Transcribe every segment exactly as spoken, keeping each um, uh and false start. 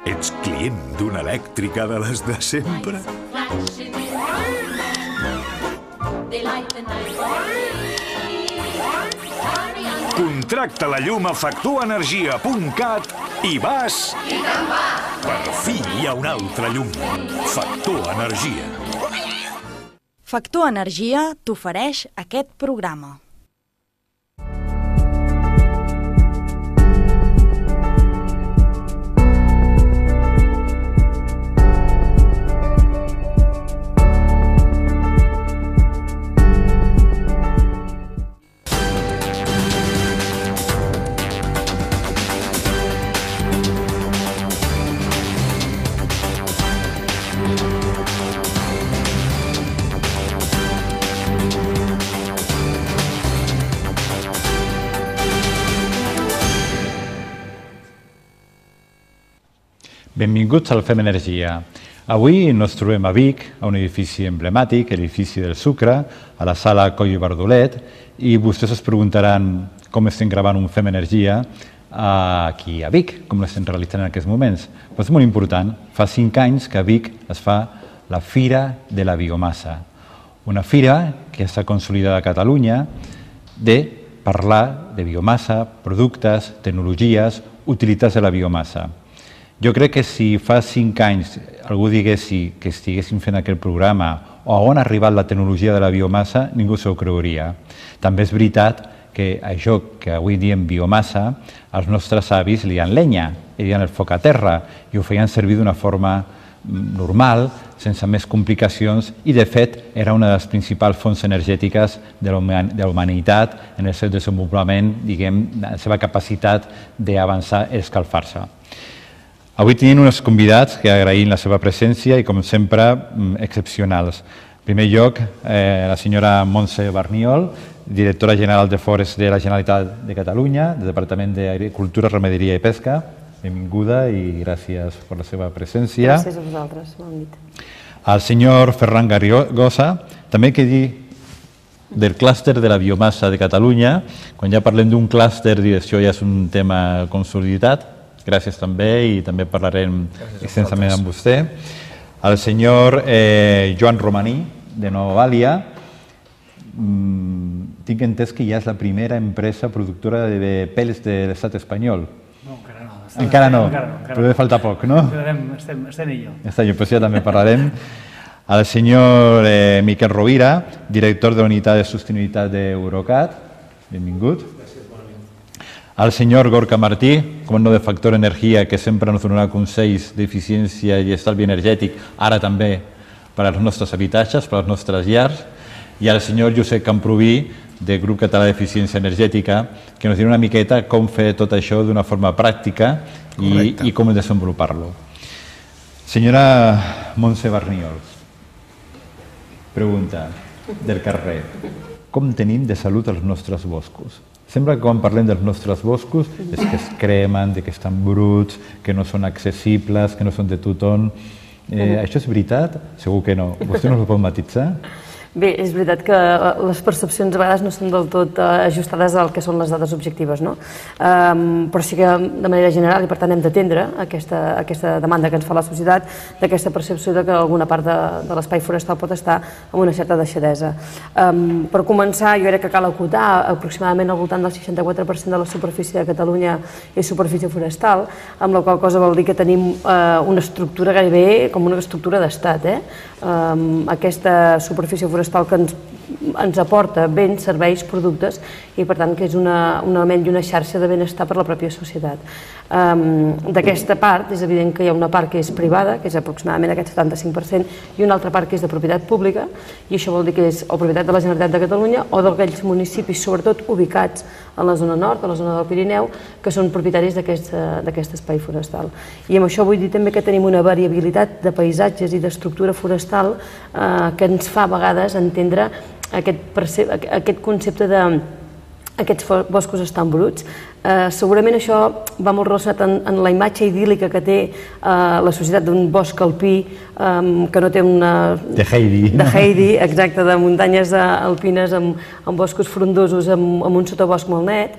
Ets client d'una elèctrica de les de sempre? Contracta la llum a factor energia punt cat i vas... I te'n vas! Per fi hi ha una altra llum. Factor Energia. Factor Energia t'ofereix aquest programa. Benvinguts al Fem Energia. Avui ens trobem a Vic, a un edifici emblemàtic, l'edifici del Sucre, a la sala Coll i Bardolet, i vostès es preguntaran com estem gravant un Fem Energia aquí a Vic, com l'estem realitzant en aquests moments. Però és molt important, fa cinc anys que a Vic es fa la Fira de la Biomassa, una fira que està consolidada a Catalunya de parlar de biomassa, productes, tecnologies, utilitats de la biomassa. Jo crec que si fa cinc anys algú digués que estiguéssim fent aquest programa o on ha arribat la tecnologia de la biomassa, ningú s'ho creuria. També és veritat que això que avui diem biomassa, els nostres avis li diuen llenya, li diuen el foc a terra, i ho feien servir d'una forma normal, sense més complicacions, i de fet era una de les principals fonts energètiques de la humanitat en el seu desenvolupament, diguem, la seva capacitat d'avançar i escalfar-se. Avui tenim uns convidats que agraïm la seva presència i, com sempre, excepcionals. En primer lloc, la senyora Montse Barniol, directora general de Forests de la Generalitat de Catalunya, del Departament d'Agricultura, Ramaderia i Pesca. Benvinguda i gràcies per la seva presència. Gràcies a vosaltres, bon nit. El senyor Ferran Garrigosa, també que dir del clúster de la biomassa de Catalunya. Quan ja parlem d'un clúster, això ja és un tema consolidat. Gràcies també, i també parlarem extensament amb vostè. El senyor Joan Romaní, de Nova Vàlia. Tinc entès que ja és la primera empresa productora de pèls de l'estat espanyol. No, encara no. Encara no, però deu faltar poc, no? Estem en ello. Està, doncs ja també parlarem. El senyor Miquel Rovira, director de la Unitat de Sostenibilitat d'Eurocat. Benvingut. El senyor Gorka Martí, comandant de Factor Energia, que sempre ens donarà consells d'eficiència i estalvi energètic, ara també per als nostres habitatges, per als nostres llars, i el senyor Josep Camproví, del Grup Català d'Eficiència Energètica, que ens dirà una miqueta com fer tot això d'una forma pràctica i com desenvolupar-lo. Senyora Montse Barniol, pregunta del carrer. Com tenim de salut els nostres boscos? Sembla que quan parlem dels nostres boscos és que es cremen, que estan bruts, que no són accessibles, que no són de tothom. Això és veritat? Segur que no. Vostè no ho pot matitzar? Bé, és veritat que les percepcions a vegades no són del tot ajustades al que són les dades objectives, no? Però sí que de manera general, i per tant hem d'atendre aquesta demanda que ens fa la societat, d'aquesta percepció que alguna part de l'espai forestal pot estar amb una certa deixadesa. Per començar, jo crec que cal acotar, aproximadament al voltant del seixanta-quatre per cent de la superfície de Catalunya és superfície forestal, amb la qual cosa vol dir que tenim una estructura gairebé com una estructura d'estat. Aquesta superfície forestal que ens aporta béns, serveis, productes, i per tant que és un element i una xarxa de benestar per a la pròpia societat. D'aquesta part és evident que hi ha una part que és privada, que és aproximadament aquest setanta-cinc per cent, i una altra part que és de propietat pública, i això vol dir que és o propietat de la Generalitat de Catalunya o d'aquells municipis, sobretot ubicats en la zona nord, a la zona del Pirineu, que són propietaris d'aquest espai forestal. I amb això vull dir també que tenim una variabilitat de paisatges i d'estructura forestal que ens fa a vegades entendre aquest concepte de aquests boscos estan bruts. Segurament això va molt relacionat en la imatge idíl·lica que té la societat d'un bosc alpí que no té una... De Heidi. De Heidi, exacte, de muntanyes alpines amb boscos frondosos, amb un sotabosc molt net,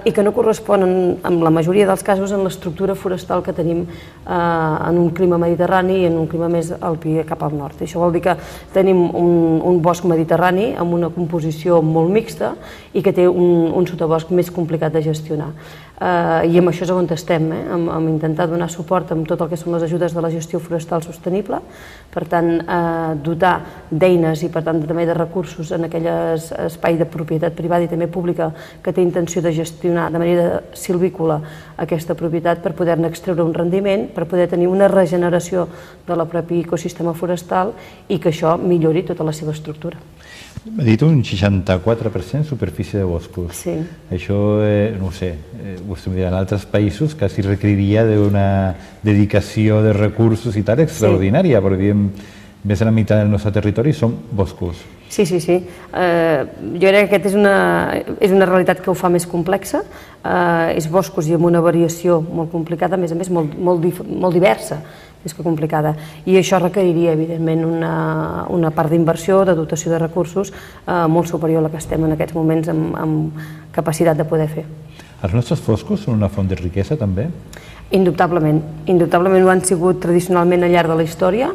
i que no corresponen, en la majoria dels casos, en l'estructura forestal que tenim en un clima mediterrani i en un clima més alpí cap al nord. Això vol dir que tenim un bosc mediterrani amb una composició molt mixta i que té un sotabosc més complicat de gestionar. I amb això és on estem, amb intentar donar suport amb tot el que són les ajudes de la gestió forestal sostenible, per tant, dotar d'eines i, per tant, també de recursos en aquell espai de propietat privada i també pública que té intenció de gestionar de manera silvícola aquesta propietat per poder-ne extreure un rendiment, per poder tenir una regeneració de la propi ecosistema forestal i que això millori tota la seva estructura. M'ha dit un seixanta-quatre per cent superfície de boscos. Sí. Això, no ho sé, vostè em dirà, en altres països quasi requeriria d'una dedicació de recursos i tal extraordinària, perquè diem, més de la meitat del nostre territori són boscos. Sí, sí, sí. Jo crec que aquesta és una realitat que ho fa més complexa. És boscos i amb una variació molt complicada, a més a més molt diversa, més que complicada. I això requeriria, evidentment, una part d'inversió, de dotació de recursos molt superior a la que estem en aquests moments amb capacitat de poder fer. Els nostres boscos són una font de riquesa, també? Indubtablement. Indubtablement ho han sigut tradicionalment al llarg de la història.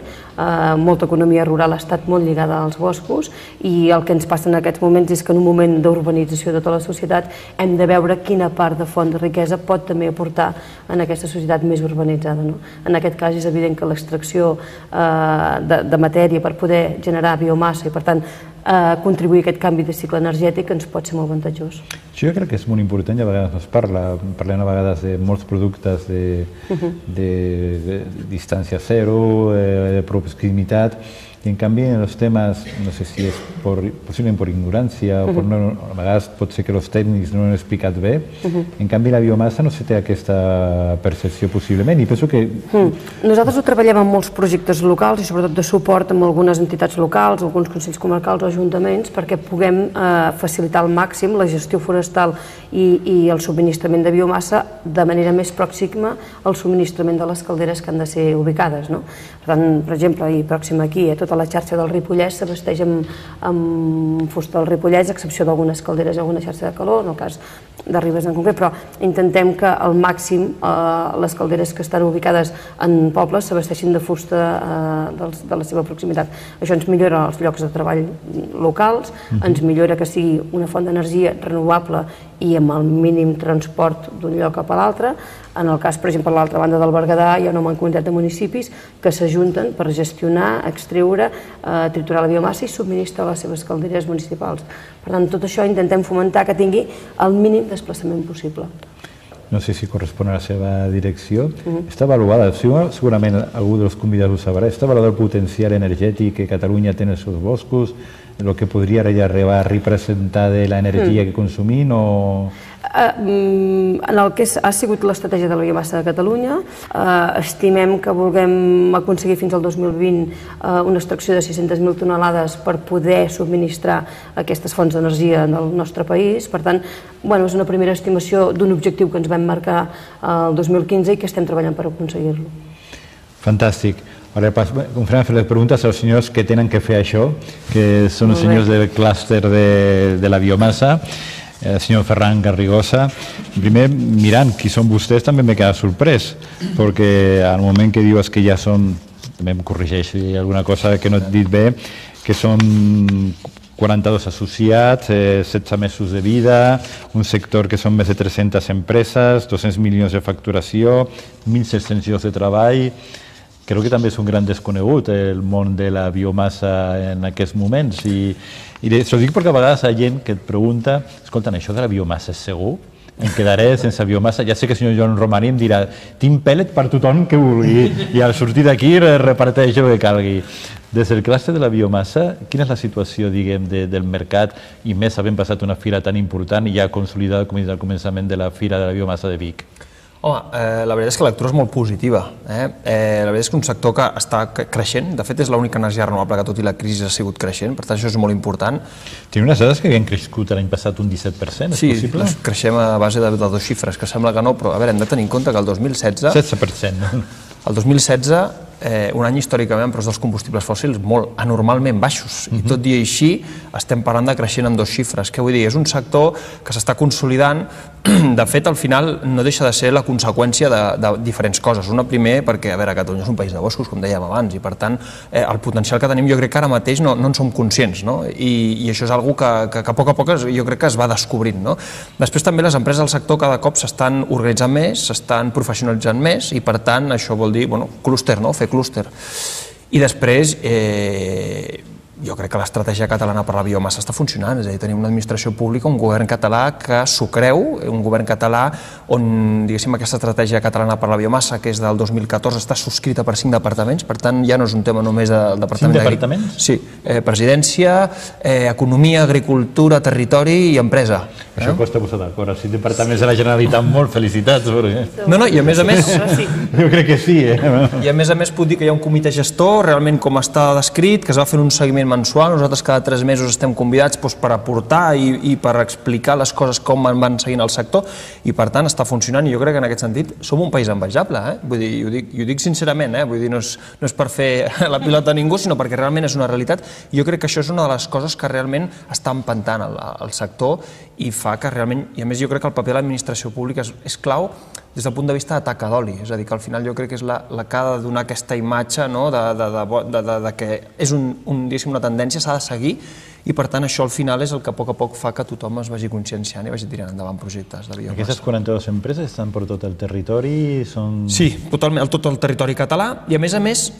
Molta economia rural ha estat molt lligada als boscos i el que ens passa en aquests moments és que en un moment d'urbanització de tota la societat hem de veure quina part de font de riquesa pot també aportar en aquesta societat més urbanitzada. En aquest cas és evident que l'extracció de matèria per poder generar biomassa i per tant contribuir a aquest canvi de cicle energètic ens pot ser molt avantatjós. Jo crec que és molt important, i a vegades no es parla, parlem a vegades de molts productes de distància zero, de proximitat, i en canvi en els temes, no sé si és possiblement per ignorància o a vegades pot ser que els tècnics no ho han explicat bé, en canvi la biomassa no se té aquesta percepció possiblement i penso que... Nosaltres ho treballem en molts projectes locals i sobretot de suport amb algunes entitats locals, alguns consells comarcals o ajuntaments perquè puguem facilitar al màxim la gestió forestal i el subministrament de biomassa de manera més pròxima al subministrament de les calderes que han de ser ubicades. Per tant, per exemple, i pròxim aquí, a tota la xarxa del Ripollès s'abasteix amb fusta del Ripollès, a excepció d'algunes calderes i alguna xarxa de calor, en el cas de Ribes en concret, però intentem que al màxim les calderes que estan ubicades en pobles s'abasteixin de fusta de la seva proximitat. Això ens millora els llocs de treball locals, ens millora que sigui una font d'energia renovable i amb el mínim transport d'un lloc cap a l'altre. En el cas, per exemple, a l'altra banda del Berguedà hi ha una mancomunitat de municipis que s'ajunten per gestionar, extreure, triturar la biomassa i subministrar les seves calderes municipals. Per tant, tot això intentem fomentar que tingui el mínim desplaçament possible. No sé si correspon a la seva direcció. Està avaluada, segurament algú dels convidats ho sabrà, està avaluat el potencial energètic que Catalunya té en els seus boscos, el que podria arribar a representar de l'energia que consumim o... En el que ha sigut l'estratègia de la biomassa de Catalunya, estimem que vulguem aconseguir fins al dos mil vint una extracció de sis-centes mil tonelades per poder subministrar aquestes fonts d'energia del nostre país. Per tant, és una primera estimació d'un objectiu que ens vam marcar el dos mil quinze i que estem treballant per aconseguir-lo. Fantàstic. Ara començarem a fer les preguntes als senyors que tenen que fer això, que són els senyors del clúster de la biomassa. El senyor Ferran Garrigosa, primer, mirant qui són vostès, també m'he quedat sorprès, perquè al moment que dius que ja són, també em corregeix si hi ha alguna cosa que no he dit bé, que són quaranta-dos associats, setze mesos de vida, un sector que són més de tres-centes empreses, dos-cents milions de facturació, mil set-cents llocs de treball. Crec que també és un gran desconegut el món de la biomassa en aquests moments i això ho dic perquè a vegades hi ha gent que et pregunta, escolta, això de la biomassa és segur? Em quedaré sense biomassa? Ja sé que el senyor Joan Romaní em dirà tinc pèl·let per tothom que vulgui i al sortir d'aquí reparteix el que calgui. Des del clúster de la biomassa, quina és la situació, diguem, del mercat i més havent passat una fira tan important i ja consolidada com al començament de la Fira de la Biomassa de Vic? Home, la veritat és que la lectura és molt positiva. La veritat és que un sector que està creixent, de fet és l'única energia renovable que tot i la crisi ha sigut creixent, per tant això és molt important. Tenim unes dades que havien crescut l'any passat un disset per cent, és possible? Sí, creixem a base de dos xifres, que sembla que no, però a veure, hem de tenir en compte que el dos mil setze... setze per cent. El dos mil setze, un any històricament amb preus dels combustibles fòssils molt anormalment baixos, i tot i així estem parlant de creixent amb dos xifres. Què vull dir? És un sector que s'està consolidant. De fet, al final no deixa de ser la conseqüència de diferents coses. Una, primer, perquè, a veure, Catalunya és un país de boscos, com dèiem abans, i per tant el potencial que tenim jo crec que ara mateix no en som conscients, i això és una cosa que a poc a poc jo crec que es va descobrint. Després també les empreses del sector cada cop s'estan organitzant més, s'estan professionalitzant més, i per tant això vol dir clúster, fer clúster. I després jo crec que l'estratègia catalana per la biomassa està funcionant, és a dir, tenim una administració pública, un govern català que s'ho creu, un govern català on, diguéssim, aquesta estratègia catalana per la biomassa, que és del dos mil catorze, està subscrita per cinc departaments, per tant ja no és un tema només del departament... Cinc departaments? Sí, presidència, economia, agricultura, territori i empresa. Això costa posar d'acord, cinc departaments de la Generalitat, molt felicitats. No, no, i a més a més... Jo crec que sí, eh? I a més a més puc dir que hi ha un comitè gestor, realment com està descrit, que es va fer un seguiment mensual. Nosaltres cada tres mesos estem convidats per aportar i per explicar les coses com van seguint el sector, i per tant està funcionant, i jo crec que en aquest sentit som un país envejable, vull dir, i ho dic sincerament, vull dir, no és per fer la pilota a ningú, sinó perquè realment és una realitat, i jo crec que això és una de les coses que realment està empentant el sector i fa que realment, i a més jo crec que el paper de l'administració pública és clau des del punt de vista de taca d'oli, és a dir, que al final jo crec que és la que ha de donar aquesta imatge que és una tendència, s'ha de seguir, i per tant això al final és el que a poc a poc fa que tothom es vagi conscienciant i vagi tirant endavant projectes de biomassa. Aquestes quaranta-dues empreses estan per tot el territori? Sí, totalment, tot el territori català, i a més a més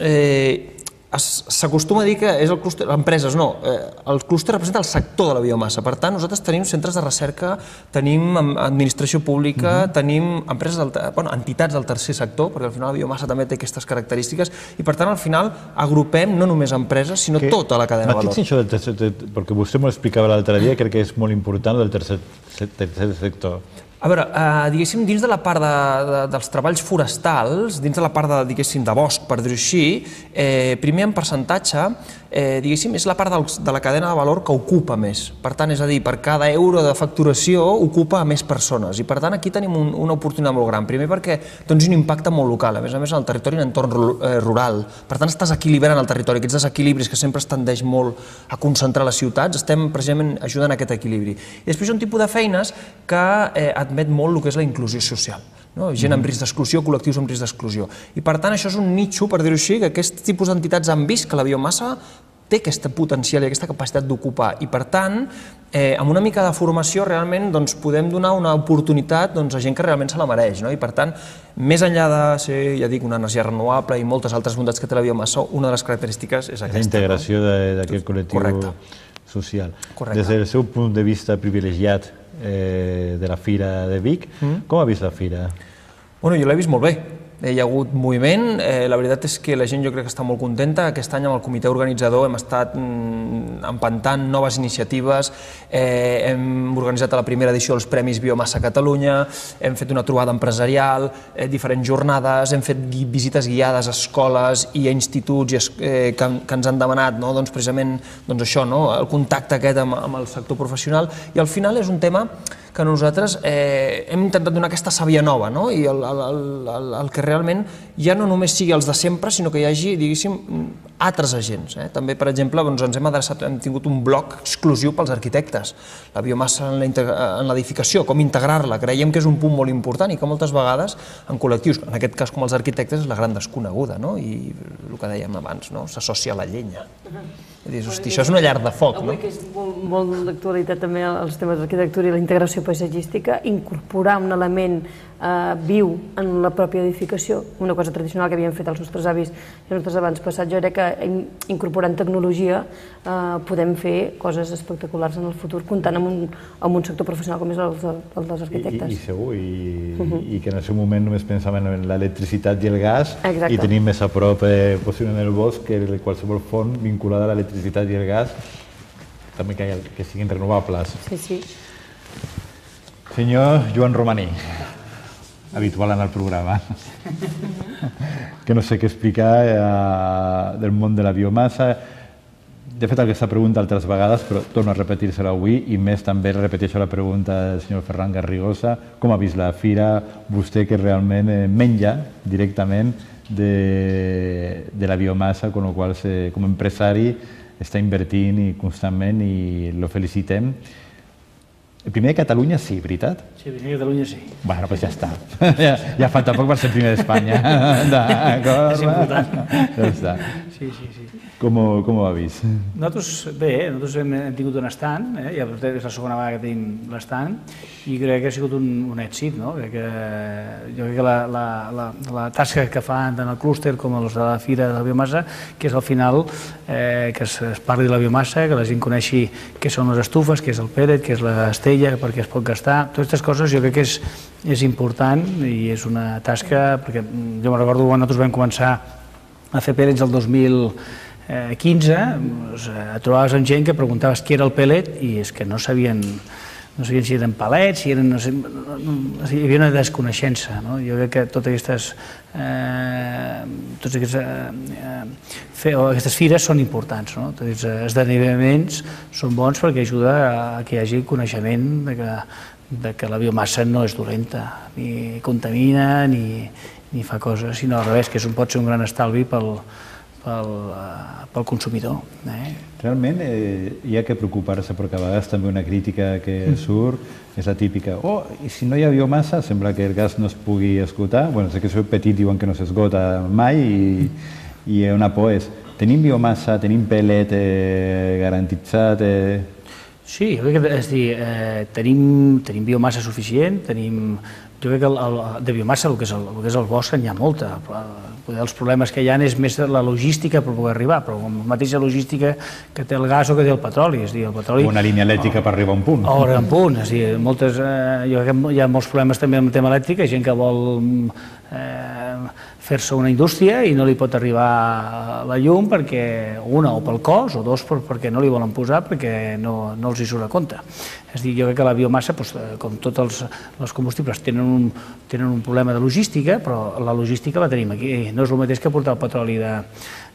s'acostuma a dir que és el clúster, empreses no, el clúster representa el sector de la biomassa, per tant nosaltres tenim centres de recerca, tenim administració pública, tenim empreses, bueno, entitats del tercer sector, perquè al final la biomassa també té aquestes característiques, i per tant al final agrupem no només empreses, sinó tota la cadena de valor. Mateix això del tercer sector, perquè vostè m'ho explicava l'altre dia, crec que és molt important del tercer sector. A veure, diguéssim, dins de la part dels treballs forestals, dins de la part, diguéssim, de bosc, per dir-ho així, primer en percentatge, diguéssim, és la part de la cadena de valor que ocupa més. Per tant, és a dir, per cada euro de facturació ocupa més persones, i per tant aquí tenim una oportunitat molt gran. Primer perquè té un impacte molt local, a més a més en el territori, en entorn rural. Per tant, estàs equilibrant el territori, aquests desequilibris que sempre es tendeix molt a concentrar les ciutats, estem precisament ajudant a aquest equilibri. I després hi ha un tipus de feines que admet molt el que és la inclusió social. Gent amb risc d'exclusió, col·lectius amb risc d'exclusió. I per tant això és un nitxo, per dir-ho així, que aquest tipus d'entitats han vist que la biomassa té aquest potencial i aquesta capacitat d'ocupar, i per tant, amb una mica de formació realment podem donar una oportunitat a gent que realment se la mereix, i per tant, més enllà de ser, ja dic, una energia renovable i moltes altres bondats que té la biomassa, una de les característiques és aquesta. La integració d'aquest col·lectiu social. Des del seu punt de vista privilegiat de la Fira de Vic, com ha vist la Fira? Bueno, jo l'he vist molt bé. Hi ha hagut moviment, la veritat és que la gent jo crec que està molt contenta. Aquest any amb el comitè organitzador hem estat empentant noves iniciatives, hem organitzat la primera edició dels Premis Biomassa Catalunya, hem fet una trobada empresarial, diferents jornades, hem fet visites guiades a escoles i a instituts que ens han demanat precisament això, el contacte aquest amb el sector professional, i al final és un tema que nosaltres hem intentat donar aquesta sàvia nova, i el que realment ja no només sigui els de sempre, sinó que hi hagi, diguéssim, altres agents. També, per exemple, ens hem adreçat, hem tingut un bloc exclusiu pels arquitectes, la biomassa en l'edificació, com integrar-la. Creiem que és un punt molt important i que moltes vegades en col·lectius, en aquest cas com els arquitectes, és la gran desconeguda, i el que dèiem abans, s'associa a la llenya. Dius, hosti, això és una llar de foc, no? Avui que és molt d'actualitat també els temes d'arquitectura i la integració paisatgística, incorporar un element viu en la pròpia edificació, una cosa tradicional que havien fet els nostres avis i els nostres abans passats, jo crec que incorporant tecnologia podem fer coses espectaculars en el futur, comptant amb un sector professional com és el dels arquitectes. I segur, i que en el seu moment només pensàvem en l'electricitat i el gas, i tenim més a prop possiblement el bosc que qualsevol font vinculada a l'electricitat i el gas, també que siguin renovables. Sí, sí. Senyor Joan Romaní. habitual en el programa. Que no sé què explicar eh, del món de la biomassa. De fet, aquesta pregunta altres vegades, però torno a repetir-se-la avui, i més també repeteixo la pregunta del senyor Ferran Garrigosa. Com ha vist la fira vostè, que realment eh, menja directament de, de la biomassa, con lo qual, se, com a empresari, està invertint i constantment, i lo felicitem. El primer de Catalunya sí, veritat? Sí, el primer de Catalunya sí. Bueno, doncs ja està. Ja, ja falta poc per ser el primer d'Espanya. D'acord? És important. Ja està. Sí, sí, sí. Com ho, com ho ha vist? Nosaltres, bé, nosaltres hem, hem tingut un estand, eh? Ja és la segona vegada que tenim l'estand, i crec que ha sigut un, un èxit, no? Crec que, jo crec que la, la, la, la tasca que fan tant el clúster com els de la Fira de la Biomassa, que és al final eh, que es, es parli de la biomassa, que la gent coneixi què són les estufes, què és el pellet, què és l'estella, per què es pot gastar. Totes aquestes coses jo crec que és, és important i és una tasca, perquè jo me'n recordo quan nosaltres vam començar a fer pellets el dos mil quinze, et trobaves amb gent que preguntaves què era el pellet i és que no sabien, no sabien si eren pellets, si eren, no sé, no, no, hi havia una desconeixença, no? Jo crec que totes aquestes, eh, tots aquests, eh, fe, aquestes fires són importants, no? Tots aquests esdeveniments són bons perquè ajuda a que hi hagi coneixement de que, de que la biomassa no és dolenta, ni contamina, ni, ni fa coses, sinó al revés, que és un, pot ser un gran estalvi pel Pel, pel consumidor. Eh? Realment eh, hi ha que preocupar-se, perquè a vegades també una crítica que surt és la típica, oh, i si no hi ha biomassa sembla que el gas no es pugui esgotar. Bueno, sé que sou petit, diuen que no s'esgota mai, i, i una por és, tenim biomassa, tenim pellet eh, garantitzat? Eh... Sí, jo crec que és dir, eh, tenim, tenim biomassa suficient, tenim... Jo crec que el, el, de biomassa, el que, és el, el que és el bosc, n'hi ha molta. Poder els problemes que hi ha és més la logística per poder arribar, però la mateixa logística que té el gas o que té el petroli. És dir, el petroli... Una línia elèctrica per arribar a un punt. O arribar a un punt. És dir, moltes, eh, jo crec que hi ha molts problemes també amb el tema elèctric, hi ha gent que vol eh, fer-se una indústria i no li pot arribar la llum perquè, una, o pel cost, o dos, perquè no li volen posar, perquè no, no els hi surt a compte. És dir, jo crec que la biomassa, doncs, com tots els, els combustibles, tenen un, tenen un problema de logística, però la logística la tenim aquí. No és el mateix que portar el petroli de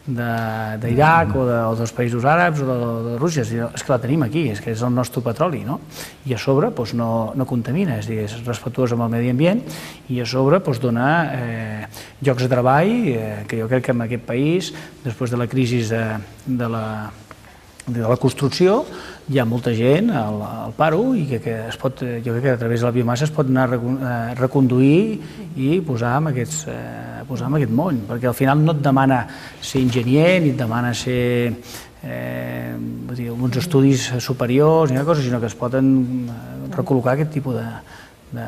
d'Iraq o, de, o dels països àrabs o de, de Rússia, és que la tenim aquí, és que és el nostre petroli, no? I a sobre doncs, no, no contamina, és, dir, és respectuós amb el medi ambient, i a sobre doncs, dona eh, llocs de treball, eh, que jo crec que en aquest país, després de la crisi de, de la de la construcció, hi ha molta gent al, al paro i que, que es pot, jo crec que a través de la biomassa es pot anar a reconduir i posar en, aquests, eh, posar en aquest món, perquè al final no et demana ser enginyer ni et demana ser eh, dir, uns estudis superiors ni cosa, sinó que es poden recol·locar aquest tipus de, de,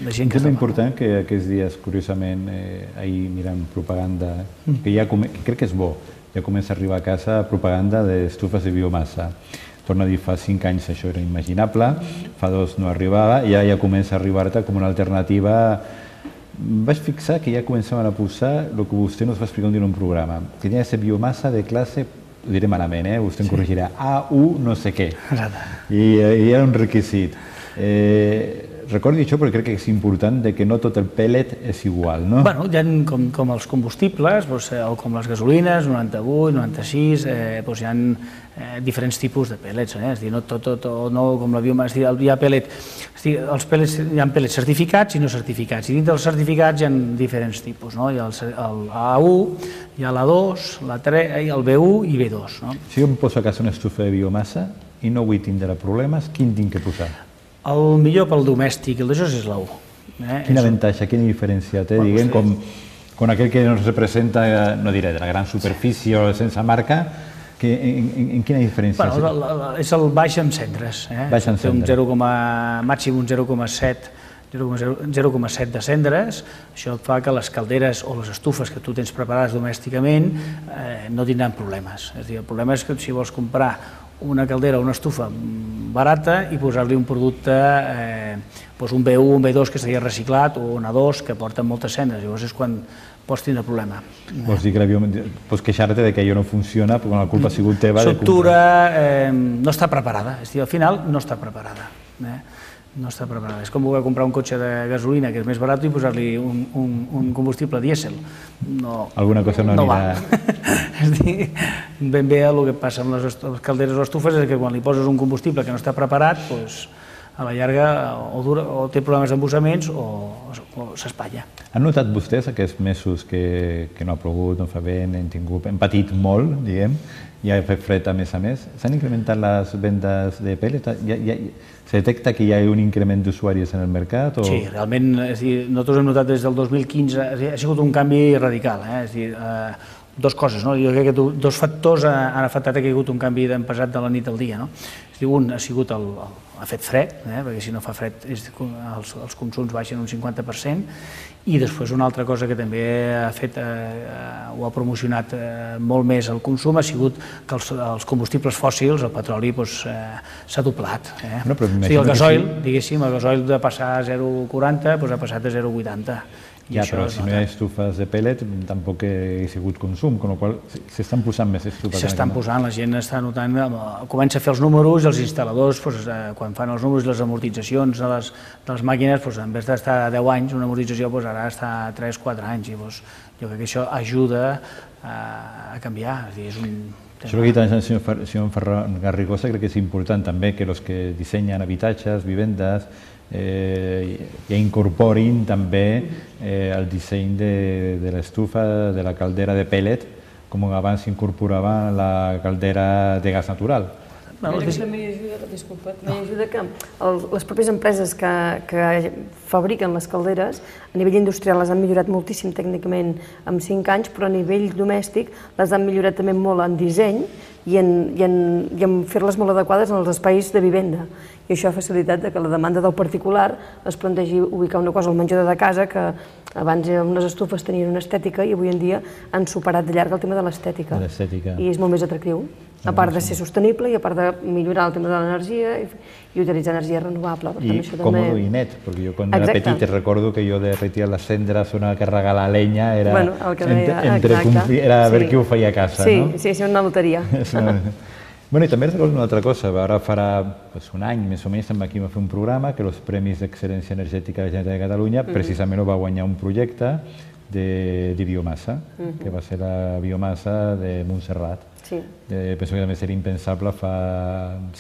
de gent que és important que aquests dies, curiosament, eh, ahir mirant propaganda, que ja que crec que és bo, ja comença a arribar a casa propaganda d'estufes de biomassa. Torno a dir, fa cinc anys això era imaginable, fa dos no arribava, i ara ja comença a arribar-te com una alternativa. Vaig fixar que ja començaven a posar el que vostè nos va explicar un dia en un programa, que tenia de ser biomassa de classe, ho diré malament, eh? Vostè em corregirà, A u no sé què, i, i era un requisit. Eh, Recordi això perquè crec que és important de que no tot el pellet és igual, no? Bueno, hi ha com, com els combustibles, doncs, o com les gasolines, noranta-vuit, noranta-sis, eh, doncs hi ha eh, diferents tipus de pellets, eh? És dir, no tot, tot, o no com la biomassa, hi ha pellet, és dir, els pellets, hi ha pellets certificats i no certificats, i dins dels certificats hi ha diferents tipus, no? Hi ha el, el A u, hi ha l'A dos, la tres, el B u i B dos, no? Si jo em poso a casa una estufa de biomassa i no vull tindre problemes, quin tinc que posar? El millor pel domèstic, el d'això és l'A u. Eh? Quin avantatge, quina diferència té, bueno, diguem, com, com aquell que ens representa, no diré, de la gran superfície o sense marca, que, en, en, en quina diferència? Bueno, la, la, és el baix en cendres. Eh? Baix en cendres. Té un zero, màxim un zero coma set zero coma set de cendres, això fa que les calderes o les estufes que tu tens preparades domèsticament eh, no tindran problemes. És a dir, el problema és que si vols comprar una caldera o una estufa barata i posar-li un producte, eh, doncs un B u, un B dos que s'hagi reciclat o un A dos que porten moltes cendres, llavors és quan pots tindre problema. Vols dir que la biomassa, pots queixar-te de que allò no funciona quan la culpa ha sigut teva? L'estructura eh, no està preparada, és a dir, al final no està preparada. Eh? No està preparada. És com voler comprar un cotxe de gasolina que és més barat i posar-li un, un, un combustible dièsel. No, Alguna cosa no, no anirà... va. És dir, ben bé el que passa amb les calderes o estufes és que quan li poses un combustible que no està preparat, doncs, a la llarga o, dura, o té problemes d'embussaments o, o s'espatlla. Han notat vostès aquests mesos que, que no ha plogut, no fa vent, hem, tingut, hem patit molt, diguem, i ha fet fred a més a més? S'han incrementat les vendes de pèl·let? Ja, ja, se detecta que hi ha un increment d'usuaris en el mercat? O... Sí, realment, és dir, nosaltres hem notat des del dos mil quinze, ha sigut un canvi radical, eh? És dir, eh, dos coses, no? Jo crec que dos factors han afectat que hi ha hagut un canvi d'empesat de la nit al dia, no? És dir, un ha sigut el, el, ha fet fred, eh? Perquè si no fa fred és, els, els consums baixen un cinquanta per cent, i després una altra cosa que també ha fet, eh, ho ha promocionat eh, molt més el consum, ha sigut que els, els combustibles fòssils, el petroli, doncs, eh, s'ha doblat. Eh? No, però o sigui, el gasoil, sí. diguéssim, el gasoil de passar a zero coma quaranta doncs ha passat a zero coma vuitanta. Ja, però si no hi ha estufes de pèl·let, tampoc hi ha sigut consum, amb la qual cosa s'estan posant més estufes. S'estan posant, la gent està notant, comença a fer els números i els instal·ladors, doncs, quan fan els números i les amortitzacions de les, de les màquines, doncs, en vez d'estar a deu anys, una amortització doncs, ara està a tres quatre anys, i doncs, jo crec que això ajuda a, a canviar. És dir, és un... Això que ha dit el senyor Ferran Garrigosa crec que és important també que els que dissenyen habitatges, vivendes, eh, ja incorporin també eh, el disseny de, de l'estufa, de la caldera de pèl·let, com abans s'incorporava la caldera de gas natural. Bueno, que també ajuda, disculpa, també ajuda que el, les pròpies empreses que, que fabriquen les calderes a nivell industrial les han millorat moltíssim tècnicament en cinc anys, però a nivell domèstic les han millorat també molt en disseny i en, i en, i en fer-les molt adequades en els espais de vivenda. I això ha facilitat que la demanda del particular es plantegi ubicar una cosa al menjador de casa que abans unes estufes tenien una estètica i avui en dia han superat de llarg el tema de l'estètica. I és molt més atractiu, a part de ser sostenible i a part de millorar el tema de l'energia i, i utilitzar energia renovable. Per I tant, això còmode també... i net, perquè jo quan era petit recordo que jo de retirar les cendres o anar a carregar la llenya era, bueno, el que deia, entre, entre, era a veure sí. qui ho feia a casa. Sí, no? sí, sí, una loteria. Bueno, i també recordo una altra cosa, ara farà pues, un any més o menys estem aquí a fer un programa que els Premis d'Excel·lència Energètica de la Generalitat de Catalunya mm-hmm. precisament ho va guanyar un projecte de, de biomassa, mm-hmm. que va ser la biomassa de Montserrat. Sí. Eh, penso que també seria impensable fa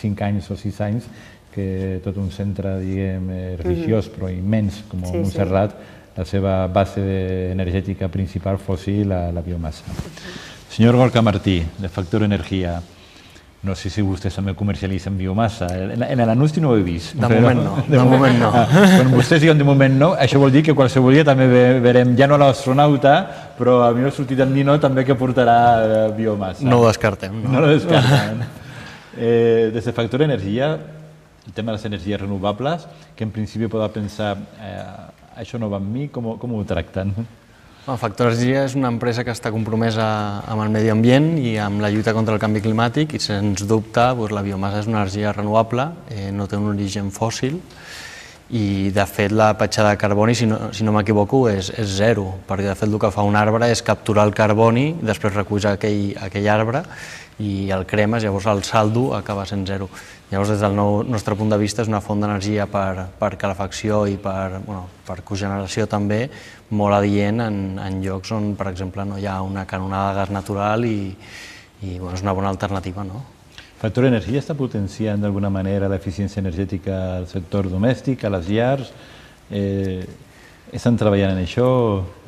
cinc anys o sis anys que tot un centre, diguem, religiós mm-hmm. però immens com sí, Montserrat, sí. la seva base energètica principal fos la, la biomassa. Mm-hmm. Senyor Gorka Martí, de Factor Energia, no sé si vostès també comercialitzen biomassa. En l'anunci no ho he vist. De moment no. De moment no. Quan vostès diuen de moment no, això vol dir que qualsevol dia també veurem, ja no l'astronauta, però a mi m'ha sortit en Nino també que portarà biomassa. No ho descartem. No ho descartem. Des de Factor Energia, el tema de les energies renovables, que en principi podeu pensar, això no va amb mi, com ho tracten? Factor Energia és una empresa que està compromesa amb el medi ambient i amb la lluita contra el canvi climàtic i, sens dubte, la biomassa és una energia renovable, no té un origen fòssil i, de fet, la petjada de carboni, si no, si no m'equivoco, és, és zero, perquè, de fet, el que fa un arbre és capturar el carboni, després reculls aquell, aquell arbre i el cremes, llavors el saldo acaba sent zero. Llavors, des del nostre punt de vista, és una font d'energia per, per calefacció i per, bueno, per cogeneració també, molt adient en, en llocs on, per exemple, no hi ha una canonada de gas natural i, i bueno, és una bona alternativa, no? Factor Energia està potenciant d'alguna manera l'eficiència energètica al sector domèstic, a les llars? Eh, estan treballant en això?